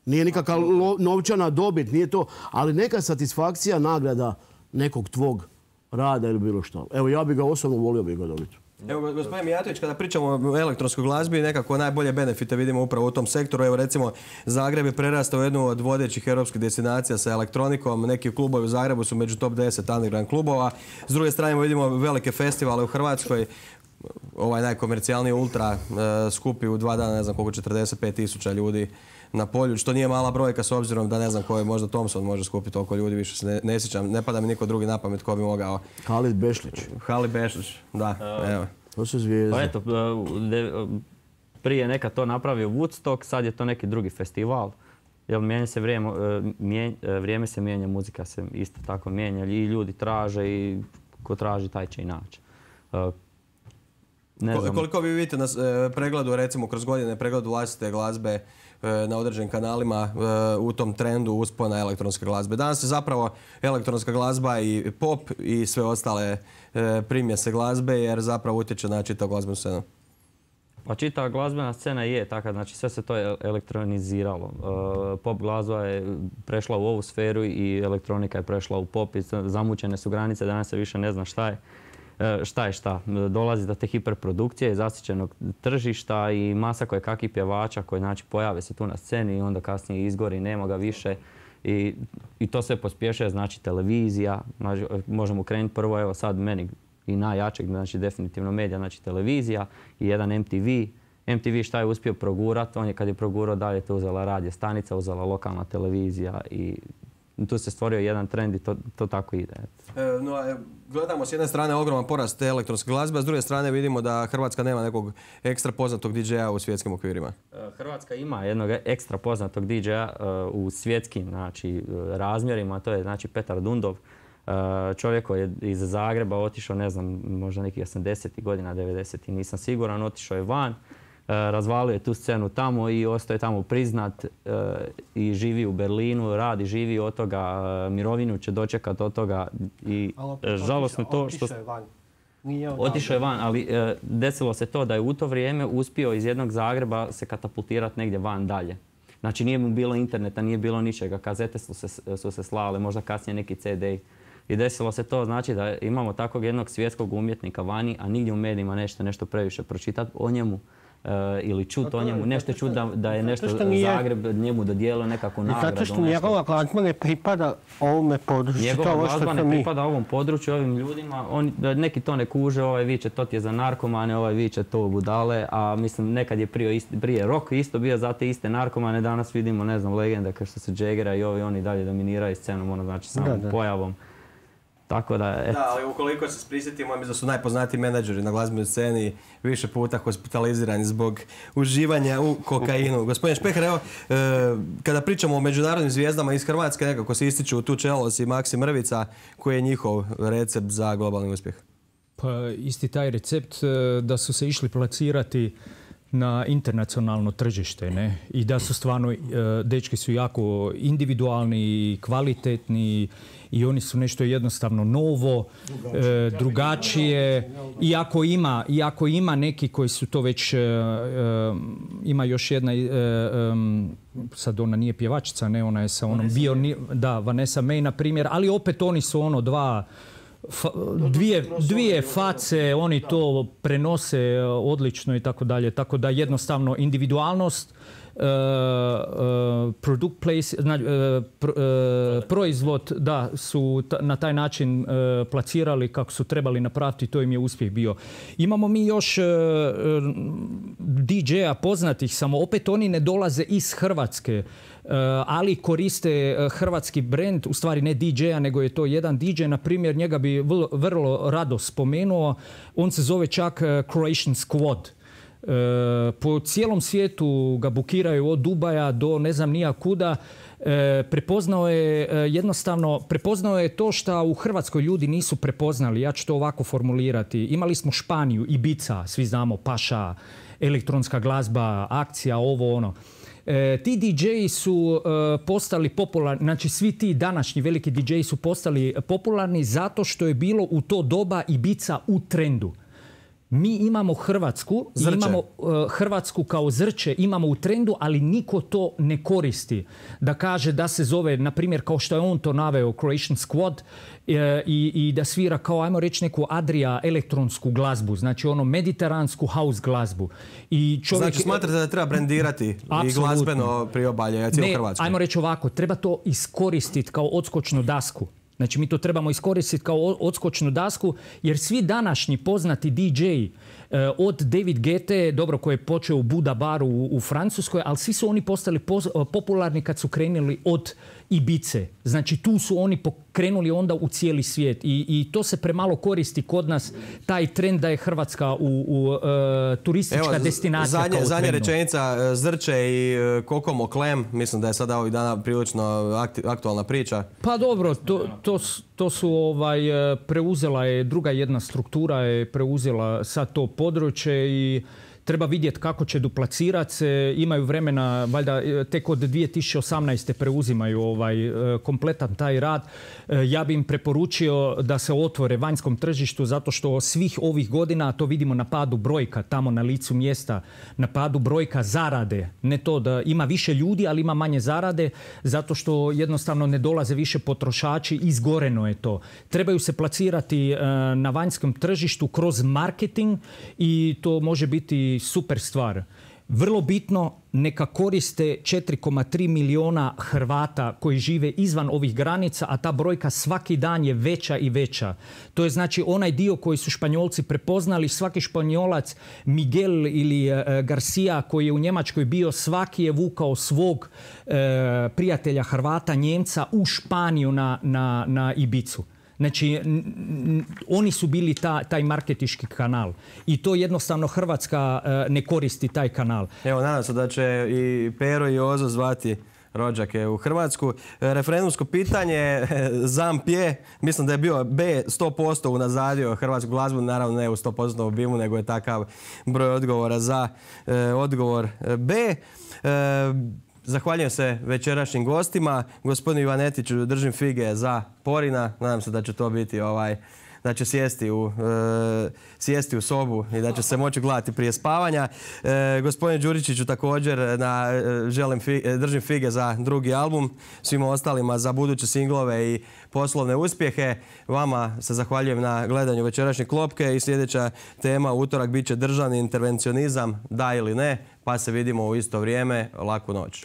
Nije nikakva novčana dobit, nije to, ali neka satisfakcija, nagrada nekog tvog rada ili bilo što. Evo, ja bih ga osobno volio bi ga dobiti. Evo, gospodin Mijatović, kada pričamo o elektronskoj glazbi, nekako najbolje benefite vidimo upravo u tom sektoru. Evo, recimo, Zagreb je prerastao jednu od vodećih europskih destinacija sa elektronikom. Neki klubovi u Zagrebu su među top 10 underground klubova. S druge strane vidimo velike festivale u Hrvatskoj. Ovaj najkomercijalniji Ultra skupi u 2 dana, ne znam koliko, 45.000 ljudi na polju, što nije mala brojka s obzirom da ne znam ko je, možda Thompson može skupiti toliko ljudi, više se ne sjećam. Ne pada mi niko drugi na pamet ko bi mogao. Halid Bešlić. Halid Bešlić, da, evo. To su zvijezde. Pa eto, prije nekad to napravio Woodstock, sad je to neki drugi festival. Jer vrijeme se mijenja, muzika se isto tako mijenja i ljudi traže i ko traži taj će i naći. Koliko vi vidite na pregledu, recimo kroz godine, pregledu vlastite glazbe na određenim kanalima u tom trendu uspona elektronske glazbe? Danas je zapravo elektronska glazba i pop i sve ostale primjese glazbe jer zapravo utječe na čitavu glazbenu scenu. Pa čitava glazbena scena je taka, znači sve se to elektroniziralo. Pop glazba je prešla u ovu sferu i elektronika je prešla u pop i zamućene su granice, danas se više ne zna šta je. Šta. Dolazi do te hiperprodukcije, zasićenog tržišta i masa koje kakvih pjevača koji znači pojave se tu na sceni i onda kasnije izgori, nema ga više. I to sve pospješuje, znači televizija. Znači, možemo krenuti prvo, evo sad meni i najjačeg, znači definitivno medija, znači televizija i jedan MTV MTV šta je uspio progurati, on je kad je progurao dalje to uzela radio stanica, uzela lokalna televizija i tu se stvorio jedan trend i to tako ide. Gledamo s jedne strane ogroman porast te elektronske glazbe, a s druge strane vidimo da Hrvatska nema nekog ekstra poznatog DJ-a u svjetskim okvirima. Hrvatska ima jednog ekstra poznatog DJ-a u svjetskim razmjerima, to je Petar Dundov. Čovjek koji je iz Zagreba otišao, ne znam, možda nekih 80. godina, 90. nisam siguran, otišao je van, razvalio je tu scenu tamo i ostao je tamo priznat i živi u Berlinu, radi, živi od toga, mirovinu će dočekati od toga i žalosno to što... Otišao je van, ali desilo se to da je u to vrijeme uspio iz jednog Zagreba se katapultirati negdje van dalje. Znači nije mu bilo interneta, nije bilo ničega, kazete su se slale, možda kasnije neki CD. I desilo se to, znači da imamo takvog jednog svjetskog umjetnika vani, a nigdje u medijima nešto previše pročitati o njemu ili čuti o njemu, nešto čuti da je nešto Zagreb njemu dodijelio nekakvu nagradu. Zato što njegova glazba ne pripada ovome području. Njegova glazba ne pripada ovom području, ovim ljudima. Neki to ne kuže, ovaj viče to ti je za narkomane, ovaj viče to budale, a mislim nekad je prije rock isto bio za te iste narkomane, danas vidimo, ne znam, legende kao što su Jaggera i oni dalje dominiraju scenom, znači samom pojavom. Tako da, ali ukoliko se prisjetimo, mislim da su najpoznatiji menadžeri na glazbenoj sceni više puta hospitalizirani zbog uživanja u kokainu. Gospodin Špeher, evo, kada pričamo o međunarodnim zvijezdama iz Hrvatske, nekako se ističu tu Čelos i Maksim Mrvica, koji je njihov recept za globalni uspjeh? Pa isti taj recept da su se išli plasirati na internacionalno tržište, ne? I da su stvarno, dečki su jako individualni i kvalitetni i oni su nešto jednostavno novo, drugačije. Iako ima neki koji su to već, ima još jedna, sad ona nije pjevačica, ne, ona je sa onom Vanessa May, na primjer, ali opet oni su dvije face, oni to prenose odlično i tako dalje. Tako da jednostavno individualnost, proizvod da su na taj način plasirali kako su trebali napraviti, to im je uspjeh bio. Imamo mi još DJ-a poznatih, samo opet oni ne dolaze iz Hrvatske, ali koriste hrvatski brand, u stvari ne DJ-a, nego je to jedan DJ, na primjer, njega bi vrlo rado spomenuo, on se zove čak Croatian Squad. Po cijelom svijetu ga bukiraju od Dubaja do ne znam nija kuda. Prepoznao je to što u Hrvatskoj ljudi nisu prepoznali. Ja ću to ovako formulirati. Imali smo Španiju, Ibiza, svi znamo, Paša, elektronska glazba, akcija, ovo ono. Ti DJ-i su postali popularni, znači svi ti današnji veliki DJ-i su postali popularni zato što je bilo u to doba Ibiza u trendu. Mi imamo Hrvatsku, imamo Hrvatsku kao zrče, imamo u trendu, ali niko to ne koristi. Da kaže da se zove, na primjer, kao što je on to naveo, Croatian Squad, i da svira kao, ajmo reći, neku Adria elektronsku glazbu, znači mediteransku house glazbu. Znači smatrate da treba brendirati i glazbeno priobalje cijelu Hrvatsku? Ne, ajmo reći ovako, treba to iskoristiti kao odskočnu dasku. Znači mi to trebamo iskoristiti kao odskočnu dasku, jer svi današnji poznati DJ-i, od David Guette, dobro, koji je počeo u Buda baru u Francuskoj, ali svi su oni postali popularni kad su krenuli od Ibice. Znači tu su oni krenuli onda u cijeli svijet i to se premalo koristi kod nas, taj trend da je Hrvatska turistička destinacija kao trendu. Zadnja rečenica, Zrče i Kokomo Klem, mislim da je sada ovih dana prilično aktualna priča. Pa dobro, to su preuzela je, druga jedna struktura je preuzela sad to područje i treba vidjeti kako će duplacirati se. Imaju vremena, valjda tek od 2018. preuzimaju kompletan taj rad. Ja bi im preporučio da se otvore vanjskom tržištu zato što svih ovih godina, to vidimo na padu brojka tamo na licu mjesta, na padu brojka zarade. Ne to da ima više ljudi, ali ima manje zarade zato što jednostavno ne dolaze više potrošači, izgoreno je to. Trebaju se plasirati na vanjskom tržištu kroz marketing i to može biti super stvar. Vrlo bitno, neka koriste 4,3 miliona Hrvata koji žive izvan ovih granica, a ta brojka svaki dan je veća i veća. To je znači onaj dio koji su Španjolci prepoznali. Svaki Španjolac, Miguel ili Garcia koji je u Njemačkoj bio, svaki je vukao svog prijatelja Hrvata, Njemca u Španiju na Ibicu. Znači, oni su bili taj marketinški kanal i to jednostavno Hrvatska ne koristi taj kanal. Evo, nadam se da će i Pero i Jozo zvati rođake u Hrvatsku. Referendumsko pitanje, ZAMP je, mislim da je bio B 100% unazadio hrvatsku glazbu, naravno ne u 100% obimu, nego je takav broj odgovora za odgovor B. Zahvaljujem se večerašnjim gostima. Gospodinu Ivanetiću držim fige za Porina. Nadam se da će to biti da će sjesti u sobu i da će se moći gledati prije spavanja. Gospodine Đuričiću također držim fige za drugi album. Svima ostalima za buduće singlove i poslovne uspjehe. Vama se zahvaljujem na gledanju večerašnje klopke i sljedeća tema u utorak bit će državni intervencionizam, da ili ne, pa se vidimo u isto vrijeme. Laku noć.